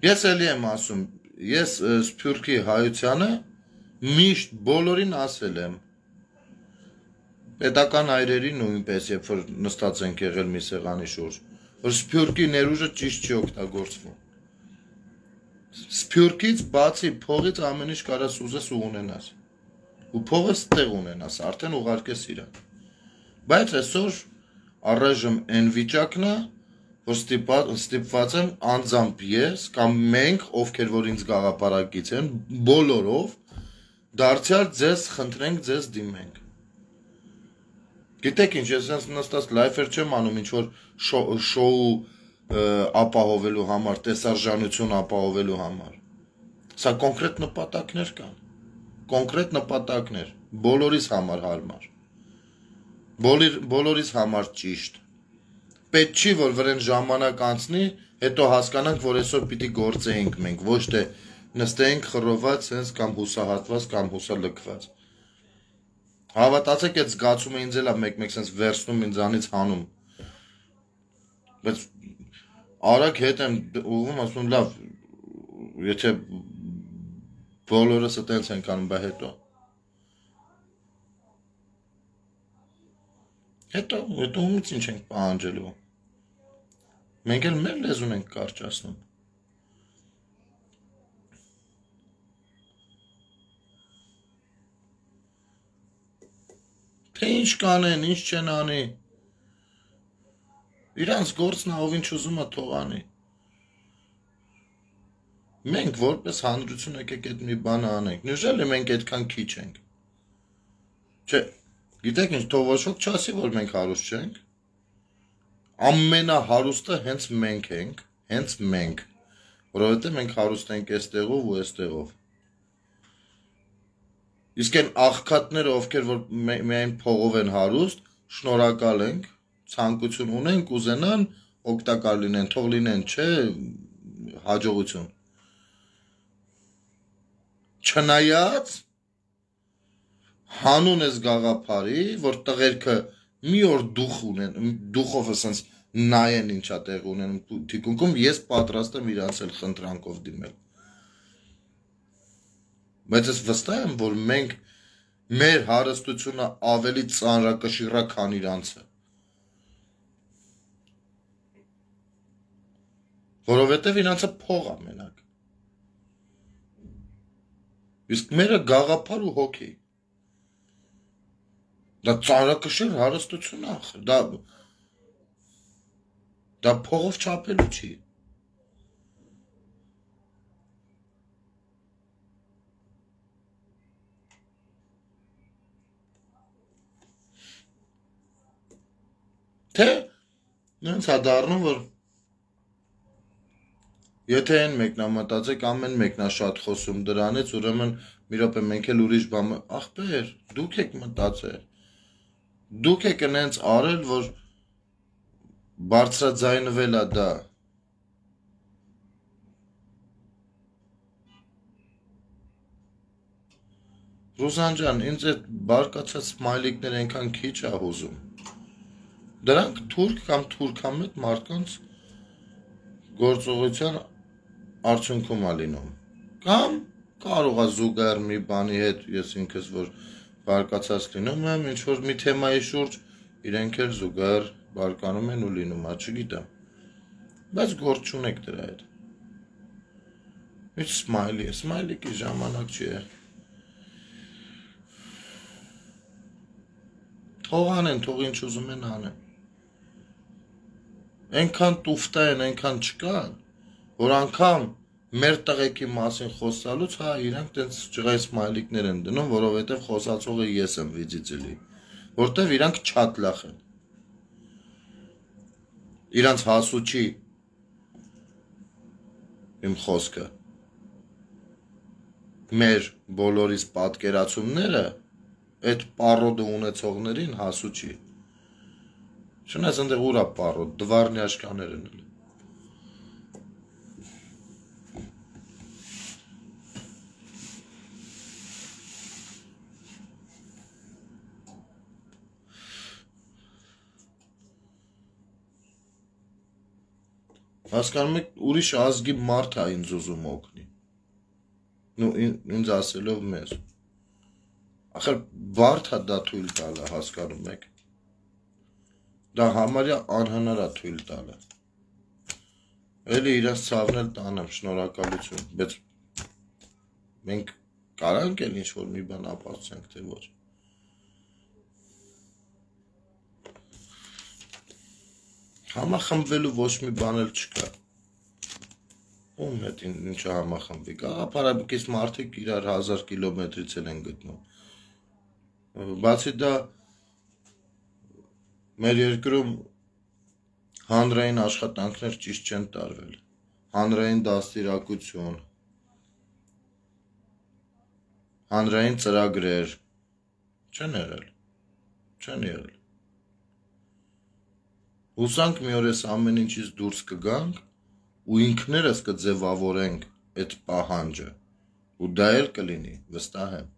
Ես էլի եմ ասում, ես Սփյուռքի հայությանը միշտ բոլորին ասել եմ, պետական այրերի նույնպես, երբ որ նստած ենք եղել մի սեղանի շուրջ, որ Սփյուռքի ներուժը ճիշտ չի օգտագործվում։ Սփյուռքից բացի փողից ամեն ինչ կարաս ուզես ու ունենաս։ Ու փողը ստեղ ունենաս, արդեն ուղարկես իրան։ Բայց այսօր առայժմ այն վիճակն է, որ ստիպված եմ անձամբ ես կամ մենք, ովքեր որ ինձ գաղափարակից են, բոլորով դարձյալ ձեզ խնդրենք, ձեզ դիմենք։ Գիտեք ինչ, ես այնց նստած լայֆեր չեմ անում, ինչ որ շոու ապահովելու համար, տեսարժանություն ապահովելու համար։ Սա կոնկրետ նպատակներ կան, կոնկրետ նպատակներ, բոլորիս համար հարմար, բոլորիս համար ճիշտ։ Պետք չի, որ վրան ժամանակ անցնի, հետո հասկանանք, որ այսօր պիտի գործեինք մենք, ոչ թե նստեինք խռոված, սենց կամ հուսահատված, կամ հուսալքված։ Հավատացեք, այդ զգացումը ինձ էլ է մեկ-մեկ սենց վերցնում ինձանից հանում։ Բայց արագ հետ եմ ուղում, ասում լավ, եթե բոլորս այդպես ենք անում, բա հետո։ Հետո, հետո ումից ինչ ենք պահանջելու։ Մենք էլ մեր լեզուն ենք կարճացնում։ Թե ինչ կանեն, ինչ չեն անի։ Իրանց գործն ով ինչ ուզում է թող անի։ Մենք որպես հանրություն եկեք այդ մի բանը անենք։ Նույնիսկ մենք այդքան քիչ ենք։ Չէ, գիտեք ինչ, թող ոչ ոք չասի, որ մենք հարուստ չենք։ Ամենահարուստը հենց մենք ենք, հենց մենք, որովհետև մենք հարուստ ենք այստեղով ու այստեղով։ Իսկ այն աղքատները, ովքեր որ միայն փողով են հարուստ, շնորհակալ ենք, ցանկություն ունենք, ուզենան, օգտակար լինեն, թող լինեն, չէ, հաջողություն։ Չնայած հանուն ես գաղափարի, որ տղերքը մի օր դուխ ունեն, դուխով ասենց նայեն ինչա տեղ ունեն թիկունքում, ես պատրաստ եմ իրանց էլ խնդրանքով դիմել։ Բայց ես վստահ եմ, որ մենք մեր հարստությունը ավելի ծանրակշիռ է, քան իրանցը։ Որովհետև իրանցը փող է մենակ։ Իսկ մերը գաղափար ու հոգի։ Դա ծանրակշիռ հարստություն է, դա դա փողով չափելու չի։ Թե նենց է դառնում, որ եթե այն մեկնամտածեք, ամեն մեկնա շատ խոսում դրանից, ուրեմն մի րոպե մենք էլ ուրիշ բան, ախպեր, դուք եք մտածել, դուք եք նենց արել, որ բարձրաձայնվել է դա։ Ռուզան ջան, ինձ այդ բարկացած սմայլիկներ այնքան քիչ է հուզում։ Դրանք թուրք կամ թուրքամետ մարդկանց գործողության արդյունքում է լինում։ Կամ կարող է զուգահեռ մի բանի հետ, ես ինքս որ բարկացած լինում եմ, ինչ որ մի թեմայի շուրջ իրենք էլ զուգահեռ բարկանում են ու լինում, չգիտեմ։ Բայց գործ չունեք դրա հետ։ Ինչ սմայլի է, սմայլիկի ժամանակ չի է։ Թող անեն, թող ինչ ուզում են անեն։ Այնքան տուֆտա են, այնքան չկան, որ անգամ մեր տղեկի մասին խոսալուց, հա, իրանք տենց ջղայ սմայլիկներ են դնում, որովհետև խոսացողը ես եմ վիծիծելի, որտև իրանք չատլախ են։ Իրանք հասուչի իմ խոսքը մեր բոլորիս պատկերացումները այդ պարոդը ունեցողներին հասուչի։ Չնայած այնտեղ ուրա պարոդ, դվարնյաշկաներ են էլ։ Հասկանում եք, ուրիշ ազգի մարդ է ինձ ուզում օգնի։ Նու ինձ ասելով մեզ։ Ախր բարդ է դա թույլ տալը, հասկանում եք։ Դա համարյա անհնար է թույլ տալը։ Էլի իրաց ցավնել տանեմ, շնորհակալություն, բայց մենք կարանք էլ ինչ-որ մի բան ապացուցենք, թե ոչ։ Համախմբվելու ոչ մի բան էլ չկա։ Ում հետ ինչը համախմբվի, գաղափարաբկից մարդիկ իրար հազար կիլոմետրից էլ են գտնում։ Բացի դա մեր երկրում հանրային աշխատանքներ ճիշտ չեն տարվել, հանրային դաստիարակություն, հանրային ծրագրեր չեն եղել, չեն եղել։ Հուսանք մի օր էս ամեն ինչից դուրս կգանք ու ինքներս կձևավորենք այդ պահանջը, ու դա էլ կլինի, վստահ եմ,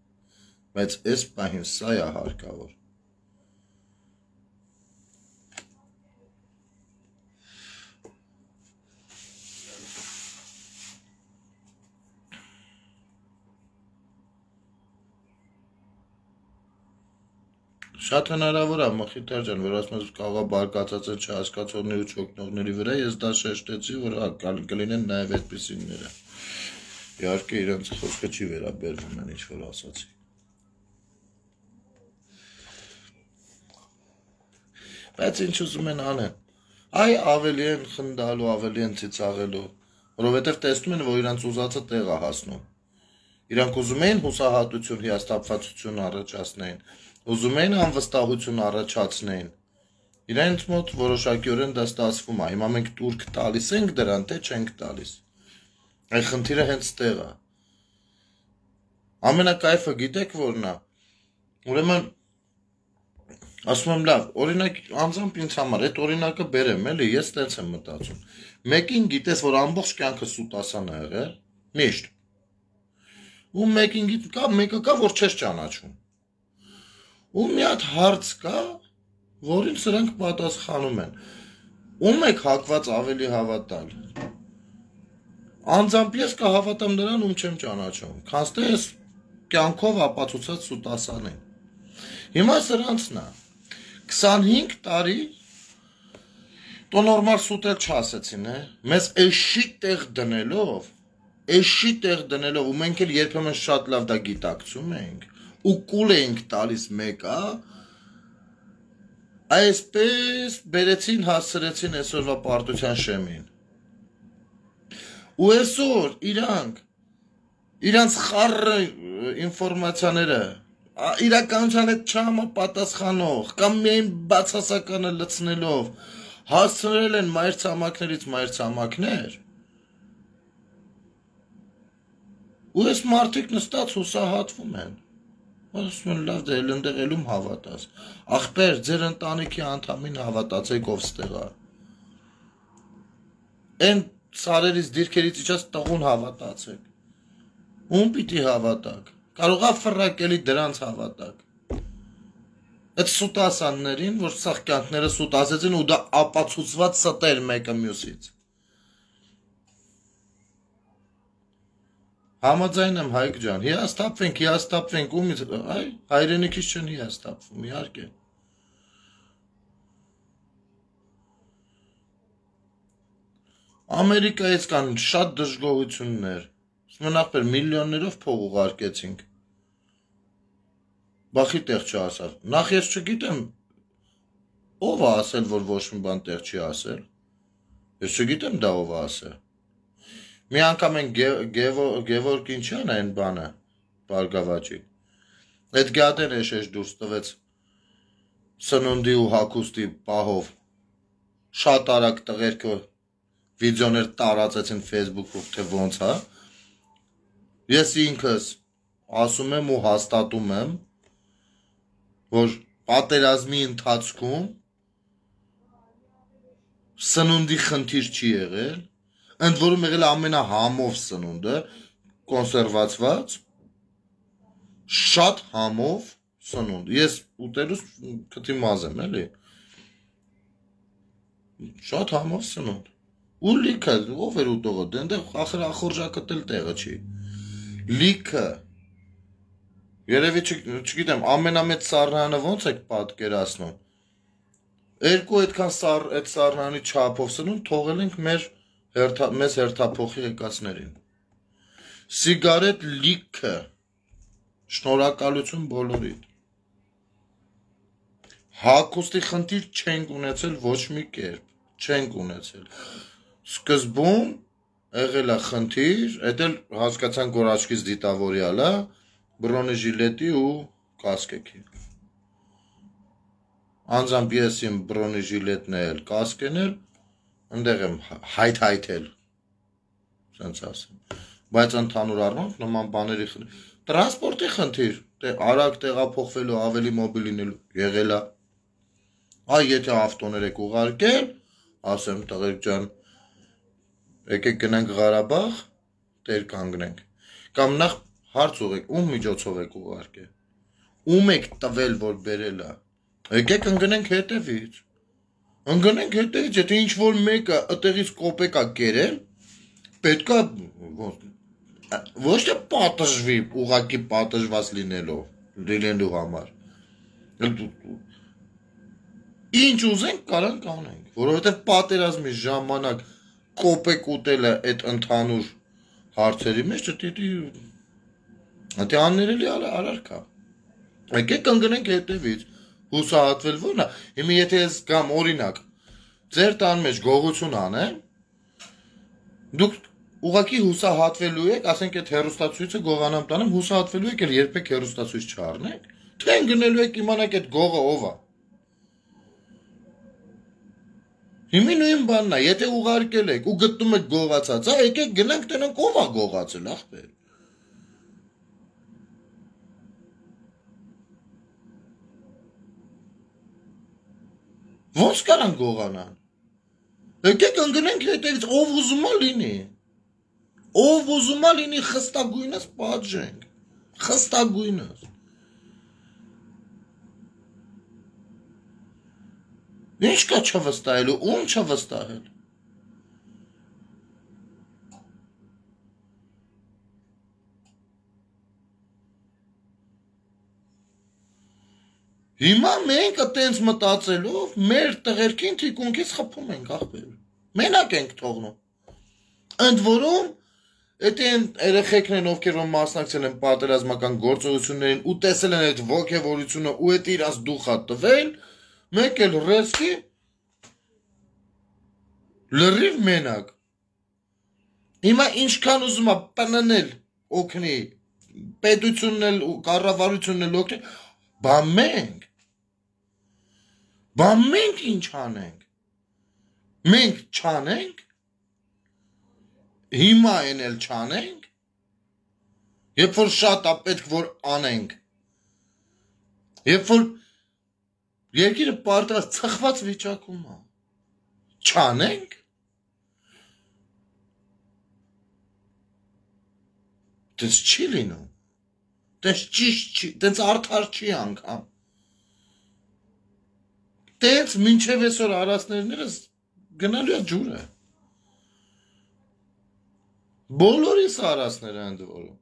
բայց այս պահին սա է հարկավոր։ Շատ հնարավոր է Մխիթար ջան, որ ասում ես կարող է բարկացած են չհասկացողների ու չօգնողների վրա, ես դա շեշտեցի, որ կլինեն նաև այդպիսիները։ Իհարկե իրենց խոսքը չի վերաբերվում են ինչ որ ասացի։ Բայց ինչ ուզում են անեն։ Այ ավելի են խնդալու, ավելի են ծիծաղելու, որովհետև տեսնում են, որ իրանց ուզածը տեղ է հասնում։ Իրանք ուզում էին հուսահատություն, հիասթափվածություն առաջացնեին, ուզում էին անվստահություն առաջացնեին։ Իրենց մոտ որոշակիորեն դա ստացվում է։ Հիմա մենք տուրք տալիս ենք դրան, թե չենք տալիս։ Այդ խնդիրը հենց տեղ է։ Ամենակայֆը գիտեք որն է։ Ուրեմն ասում եմ լավ, օրինակ անձամբ ինձ համար այդ օրինակը բերեմ, էլի, ես տենց եմ մտածում։ Մեկին գիտես, որ ամբողջ կյանքը սուտասան է եղել, միշտ։ Ու մեկին գիտ կա, մեկը կա, որ չես ճանաչում։ Ու մի հատ հարց կա, որին սրանք պատասխանում են։ Ում եք հակված ավելի հավատալ։ Անձամբ ես կհավատամ նրան, ում չեմ ճանաչում, քանց թե ես կյանքով ապացուցած սուտասան եմ։ Հիմա սրանցն է։ քսանհինգ տարի տո նորմալ սուտել չասեցին, է։ Մեզ էշի տեղ դնելով, էշի տեղ դնելով, ու մենք էլ երբեմն շատ լավ դա գիտակցում ենք, ու կուլ էինք տալիս մեկա, այսպես բերեցին, հասցրեցին այսօրվա պարտության շեմին։ Ու այսօր իրանք, իրանց խառը ինֆորմացիաները, իրականության հետ չհամապատասխանող, կամ միայն բացասականը լցնելով, հասցրել են մայր ցամաքներից մայր ցամաքներ, ու այս մարդիկ նստած հուսահատվում են։ Ասում են լավ դե այնտեղ ելում հավատաս։ Ախպեր, ձեր ընտանիքի անդամին հավատացեք ով ստեղ է։ Այն սարերից դիրքերից իջած տղուն հավատացեք։ Ում պիտի հավատակ։ Կարող է ֆրակելի դրանց հավատակ։ Այդ սուտասաններին, որ սաղ կյանքները սուտասեցին ու դա ապացուցված ստեր մեկը մյուսից։ Համաձայն եմ Հայկ ջան, հիասթափվենք, հիասթափվենք, ումից, այ, հայրենիքից չեն հիասթափվում, իհարկե։ Ամերիկայից կան շատ դժգոհություններ, Նախ միլիոններով փող ուղարկեցինք։ Բախի տեղ չասար։ Նախ ես չգիտեմ ով է ասել, որ ոչ մի բան տեղ չի ասել։ Ես չգիտեմ դա ով է ասել։ Մի անգամ են Գևորգ ինչան այն բանը, Բարգավաճի։ Այդ գադեն էշեշ դուրս տվեց սնունդի ու հագուստի պահով։ Շատ արագ տղերքը վիդեոներ տարածեցին Facebook-ով, թե ոնց է։ Ես ինքս ասում եմ ու հաստատում եմ, որ պատերազմի ընթացքում սնունդի խնդիր չի եղել, ընդ որում եղել ամենահամով սնունդը, կոնսերվացված, շատ համով սնունդ։ Ես ուտելուց քթի մազ եմ, էլի։ Շատ համով սնունդ։ Ու լիքը, ով էր ուտողը, դենտեղ ախր ախորժակը տել տեղը չի։ Լիքը։ Երևի չգիտեմ, ամենամեծ սառնանը ոնց եք պատկերացնում։ Երկու այդքան սառ այդ սառնանի չափով սնունդ թողել ենք մեր մեզ հերթափոխի եկածներին։ Սիգարետ լիքը։ Շնորհակալություն բոլորին։ Հագուստի խնդիր չենք ունեցել ոչ մի կերպ, չենք ունեցել։ Սկզբում եղել է խնդիր, այդ էլ հասկացանք, որ աչքից դիտավորյալ է, բրոնեժիլետի ու կասկեքի։ Անձամբ ես իմ բրոնեժիլետն էլ, կասկեն էլ, ընդեղ եմ հայթ-հայթել, սենց ասեմ, բայց ընդհանուր առմամբ նման բաների խնդիր, տրանսպորտի խնդիր, արագ տեղափոխվելու, ավելի մոբիլ լինելու, եղել է, այ եթե ավտոներ եք ուղարկել, ասեմ տղերք ջան, եկեք գնանք Ղարաբաղ, տեր կանգնենք, կամ նախ հարց ուղեք, ում միջոցով եք ուղարկել, ում եք տվել, որ բերել է, եկեք ընգնենք հետևից, ընգնենք հետևից, եթե ինչ-որ մեկը ըտեղից կոպեկ է կերել, պետք է ոչ թե պատժվի, ուղղակի պատժված լինելով, լինելու համար, ինչ ուզենք կարանք անենք, որովհետև պատերազմի ժամանակ կոպեկ ուտելը այդ ընդհանուր հարցերի մեջ դե աններելի արարք է, եկեք ընգնենք հետևից, հուսահատվել որն է, հիմա եթե ես գամ օրինակ, ձեր տան մեջ գողություն անեմ, դուք ուղղակի հուսահատվելու եք, ասենք այդ հեռուստացույցը գողանամ տանեմ, հուսահատվելու եք, երբեք հեռուստացույց չառնեք, թե ընկնելու եք իմանաք այդ գողը ով է։ Հիմա նույն բանն է, եթե ուղարկել եք ու գտնում եք գողացած, եկեք գնանք տենանք ով է գողացել, ախպեր։ Ոնց կարան գողանան։ Եկեք ընկնենք հետևից, ով ուզում է լինի։ Ով ուզում է լինի խստագույնս պատժենք։ Խստագույնս։ Ինչ կա չվստահելու, ում չվստահել։ Հիմա մենք այտենց մտածելով մեր տղերքին թիկունքից խփում ենք ախպեր։ Մենակ ենք թողնում։ Ընդ որում, եթե այն երեխեքն են, ովքեր որ մասնակցել են պատերազմական գործողություններին ու տեսել են այդ ոգևորությունը ու այդ իրաց դուխա տվել, մեկ էլ ռեսկի լրիվ մենակ։ Հիմա ինչքան ուզում է պննել օգնի, պետությունն էլ ու կառավարությունն էլ օգնի, բա մենք Բա մենք ինչ անենք, մենք չանենք, հիմա են էլ չանենք, երբ որ շատ է պետք որ անենք, երբ որ երկիրը պարտված ծխված վիճակում է, չանենք, դες չի լինում, դες ճիշտ չի, դες արդար չի անգամ, Տենց մինչև այսօր արածներներս գնալու է ջուրը։ Բոլորիս արածները ընդ որում։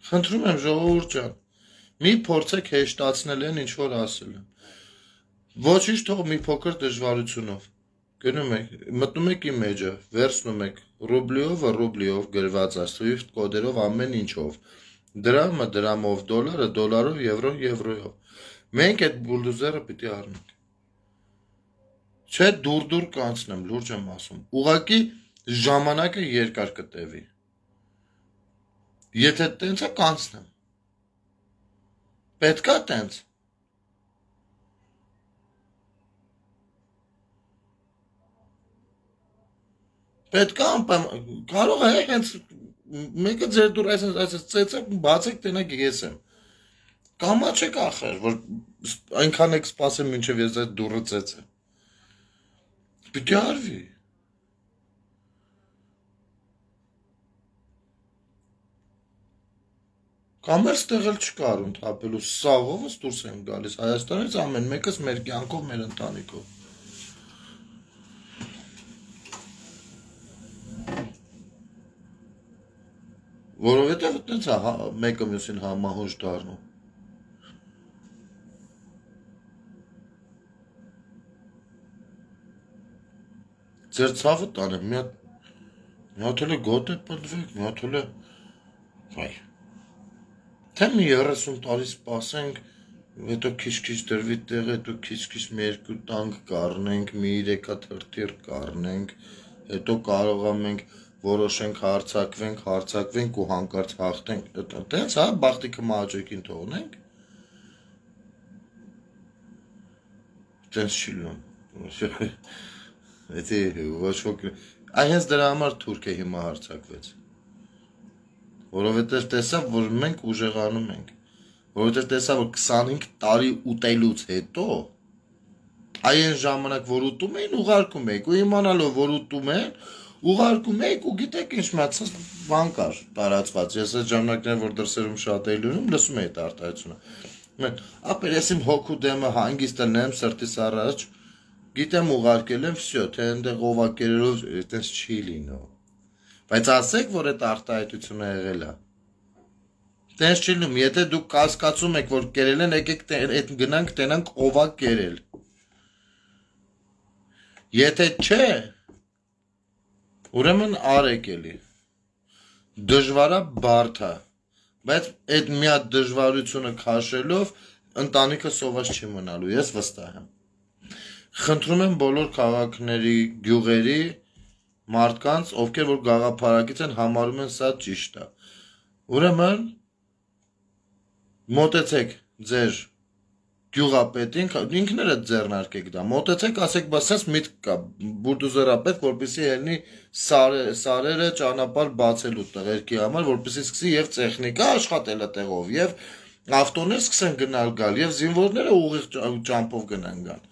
Խնդրում եմ ժողովուրդ ջան, մի փորձեք հեշտացնել են ինչ որ ասել եմ։ Ոչինչ թող մի փոքր դժվարությունով։ Գնում եք, մտնում եք իմ մեջը, վերցնում եք ռուբլիով, ռուբլիով գրված է, Swift կոդերով ամեն ինչով։ Դրամը դրամով, դոլարը դոլարով, եվրոն եվրոյով։ Մենք այդ բուլդոզերը պիտի առնենք։ Չէ դուր-դուր կանցնեմ, լուրջ եմ ասում։ Ուղղակի ժամանակը երկար կտևի։ Եթե տենց է կանցնեմ։ Պետք է տենց։ Պետք է անպայման կարող է հենց մեկը ձեր դուր այսպես այսպես ծեծեք բացեք տենակ ես եմ կամա չեք ախր որ այնքան եք սպասեմ մինչև ես այդ դուրը ծեծեմ պիտի արվի կամ էլ ստեղ էլ չկար ընդհապելու սաղովս դուրս եմ գալիս Հայաստանից ամեն մեկս մեր կյանքով մեր ընտանիքով Որովհետև այդպես է մեկը մյուսին համահունչ դառնում Ձեր ցավը տանեմ մի հատ մի հատ էլ գոտե պնդվեք մի հատ էլ վայ Թե մի երեսուն տարի սպասենք հետո քիչ-քիչ դրվի տեղ հետո քիչ-քիչ մի երկու տանկ կառնենք մի երեք հատ հրթիռ կառնենք հետո կարող ենք որոշենք հարցակվենք, հարցակվենք ու հանկարծ հաղթենք, տենց հա, բախտիկը մահաճույքին թողնենք, տենց չի լուն, էդի ոչ ոք, այ հենց դրա համար թուրք է հիմա հարցակվեց, որովհետև տեսավ, որ մենք ուժեղանում ենք, որովհետև տեսավ, որ քսանհինգ տարի ուտելուց հետո, այն ժամանակ, որ ուտում էին, ուղարկում եք, ու իմանալով, որ ուտում են, Ուղարկում եք ու գիտեք ինչ մացած բան կար տարածված ես այդ ժամանակներն որ դրսերում շատ էի լունում լսում էի այդ արտահայտությունը ապեր ես իմ հոգու դեմը հանգիստ եմ սրտիս առաջ գիտեմ ուղարկել եմ վсё թե այնտեղ օվակերերով այդպես չի լինում բայց ասեք որ այդ արտահայտությունը եղել է տենց չի լինում եթե դուք կասկածում եք որ կերել են եկեք այդ գնանք տենանք օվակ կերել եթե չէ Ուրեմն արեք էլի, դժվարա բարդ է, բայց այդ մի հատ դժվարությունը քաշելով ընտանիքը սոված չի մնալու, ես վստահ եմ։ Խնդրում եմ բոլոր քաղաքների, գյուղերի, մարդկանց, ովքեր որ գաղափարակից են համարում են սա ճիշտ է։ Ուրեմն մոտեցեք ձեր գյուղապետին, ինքներդ ձեռնարկեք դա, մոտեցեք, ասեք, բա սենց միտք կա, բուլդոզերա պետք, որպեսզի ելնի սարերը ճանապարհ բացելու տղերքի համար, որպեսզի սկսի եւ տեխնիկա աշխատել այդտեղով, եւ ավտոներ սկսեն գնալ գալ, եւ զինվորները ուղիղ ճամփով գնան գալ։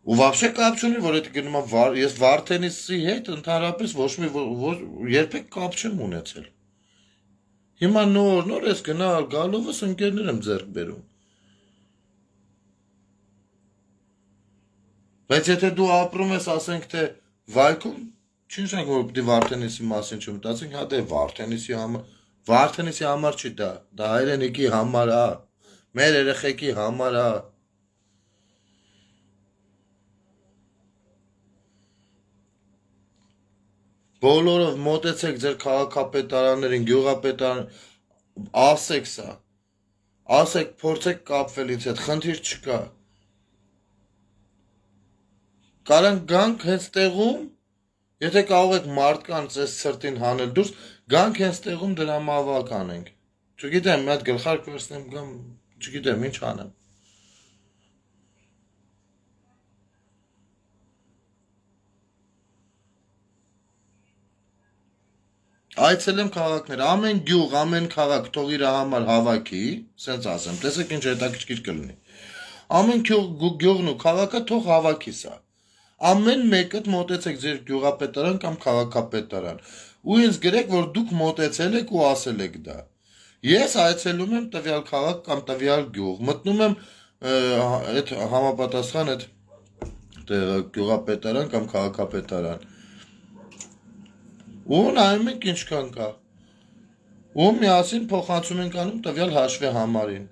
Ու вообще կապ չունի, որ այդ գնում եմ ես Վարդենիսի հետ ընդհանրապես ոչ մի երբեք կապ չեմ ունեցել։ Հիմա նոր նոր ես գնալ գալովս ընկերներ եմ ձեռք բերում։ Բայց եթե դու ապրում ես, ասենք թե Վայքում, չի նշանակում որ պիտի Վարդենիսի մասին չմտածենք, հա դե Վարդենիսի համար, Վարդենիսի համար չի դա, դա հայրենիքի համար է, մեր երեխեքի համար է։ Բոլորով մոտեցեք ձեր քաղաքապետարաններին, գյուղապետարան, ասեք սա, ասեք փորձեք կապվել ինձ հետ, խնդիր չկա։ Կարանք գանք հենց տեղում, եթե կարող եք մարդկանց այս սրտին հանել դուրս, գանք հենց տեղում դրամավակ անենք։ Չգիտեմ, մի հատ գլխարկ վերցնեմ գամ, չգիտեմ, ինչ անեմ։ Այցելեմ քաղաքներ, ամեն գյուղ, ամեն քաղաք թող իր համար հավաքի, սենց ասեմ, տեսեք ինչ հետաքրքիր կլինի։ Ամեն գյուղն ու քաղաքը թող հավաքի սա։ Ամեն մեկդ մոտեցեք ձեր գյուղապետարան կամ քաղաքապետարան։ Ու ինձ գրեք, որ դուք մոտեցել եք ու ասել եք դա։ Ես այցելում եմ տվյալ քաղաք կամ տվյալ գյուղ, մտնում եմ այդ համապատասխան այդ գյուղապետարան կամ քաղաքապետարան։ Ու նայում ենք ինչքան կա։ Ու միասին փոխանցում ենք անում տվյալ հաշվի համարին։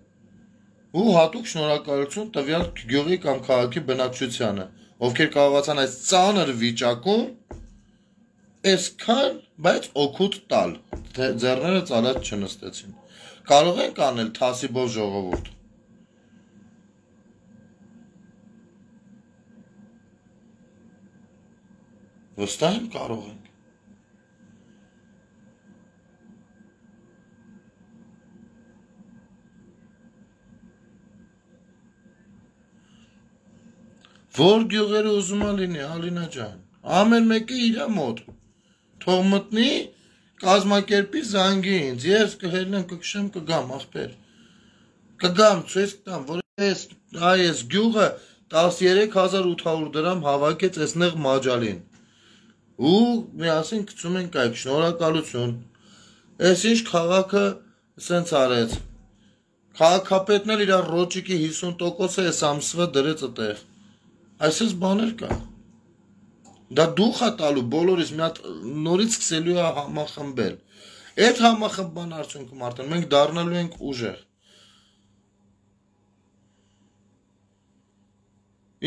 Ու հատուկ շնորհակալություն տվյալ գյուղի կամ քաղաքի բնակչությանը, ովքեր կարողացան այս ծանր վիճակում այսքան, բայց օգուտ տալ, ձեռները ծալած չնստեցին։ Կարող ենք անել թասիբով ժողովուրդ։ Վստահ եմ կարող ենք։ Որ գյուղերը ուզում լինի, Ալինա ջան, ամեն մեկը իր մոտ, թող մտնի, կազմակերպի զանգի ինձ, ես կհելնեմ, կքշեմ, կգամ, ախպեր, կգամ, ցույց կտամ, որ այս, այս գյուղը տասներեք հազար ութ հարյուր դրամ հավաքեց այս նեղ մաջալին, ու միասին գցում ենք այդ, շնորհակալություն, այս ինչ քաղաքը սենց արեց, քաղաքապետն էլ իր ռոճիկի հիսուն տոկոսը այս ամսվա դրեց այդտեղ։ Այսպես բաներ կա։ Դա դուխ է տալու բոլորիս մի հատ նորից սկսելու է համախմբել։ Այդ համախմբման արդյունքում արդեն մենք դառնալու ենք ուժեղ։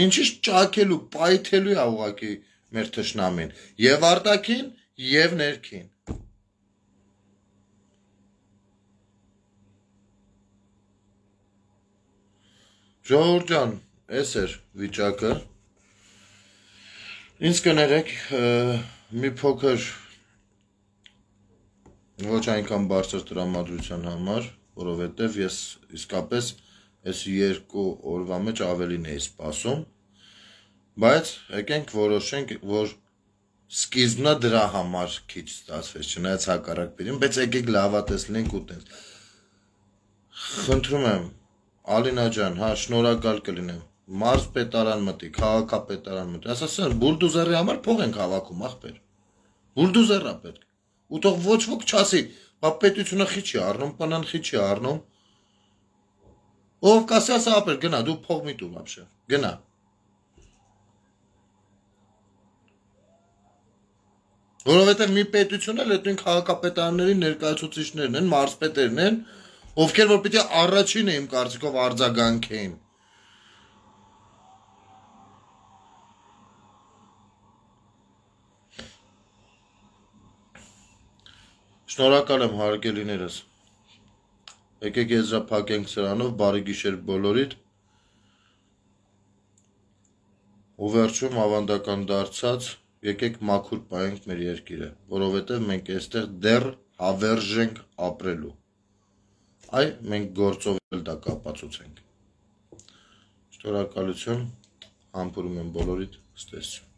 Ինչի՞ ճաքելու, պայթելու է ուղղակի մեր թշնամին, եւ արտաքին, եւ ներքին։ Ժողովուրդ ջան, այս էր վիճակը, ինձ կներեք մի փոքր ոչ այնքան բարձր տրամադրության համար, որովհետև ես իսկապես այս երկու օրվա մեջ ավելին էի սպասում, բայց եկենք որոշենք, որ սկիզբնա դրա համար քիչ ստացվեց, չնայած հակառակ բերին, բայց եկեք լավատես լինենք ու տենց։ Խնդրում եմ, Ալինա ջան, հա, շնորհակալ կլինեմ։ Մարզպետարան մտի, քաղաքապետարան մտի, ասասան, բուլդուզերի համար փող ենք հավաքում, ախպեր։ Բուլդուզերա պետք։ Ու թող ոչ ոք չասի, բա պետությունը խի չի առնում, պանան խի չի առնում։ Ով կասի, ասա ապեր, գնա, դու փող մի տուր ապշե, գնա։ Որովհետև մի պետություն էլ այդ նույն քաղաքապետարանների ներկայացուցիչներն են, մարզպետերն են, ովքեր որ պիտի առաջինը իմ կարծիքով արձագանքեին։ Շնորհակալ եմ հարգելիներս։ Եկեք եզրափակենք սրանով, բարի գիշեր բոլորիդ։ Ու վերջում ավանդական դարձած, եկեք մաքուր պահենք մեր երկիրը, որովհետև մենք այստեղ դեռ հավերժ ենք ապրելու։ Այ մենք գործով էլ դա կապացուցենք։ Շնորհակալություն, համբուրում եմ բոլորիդ, ստեսություն։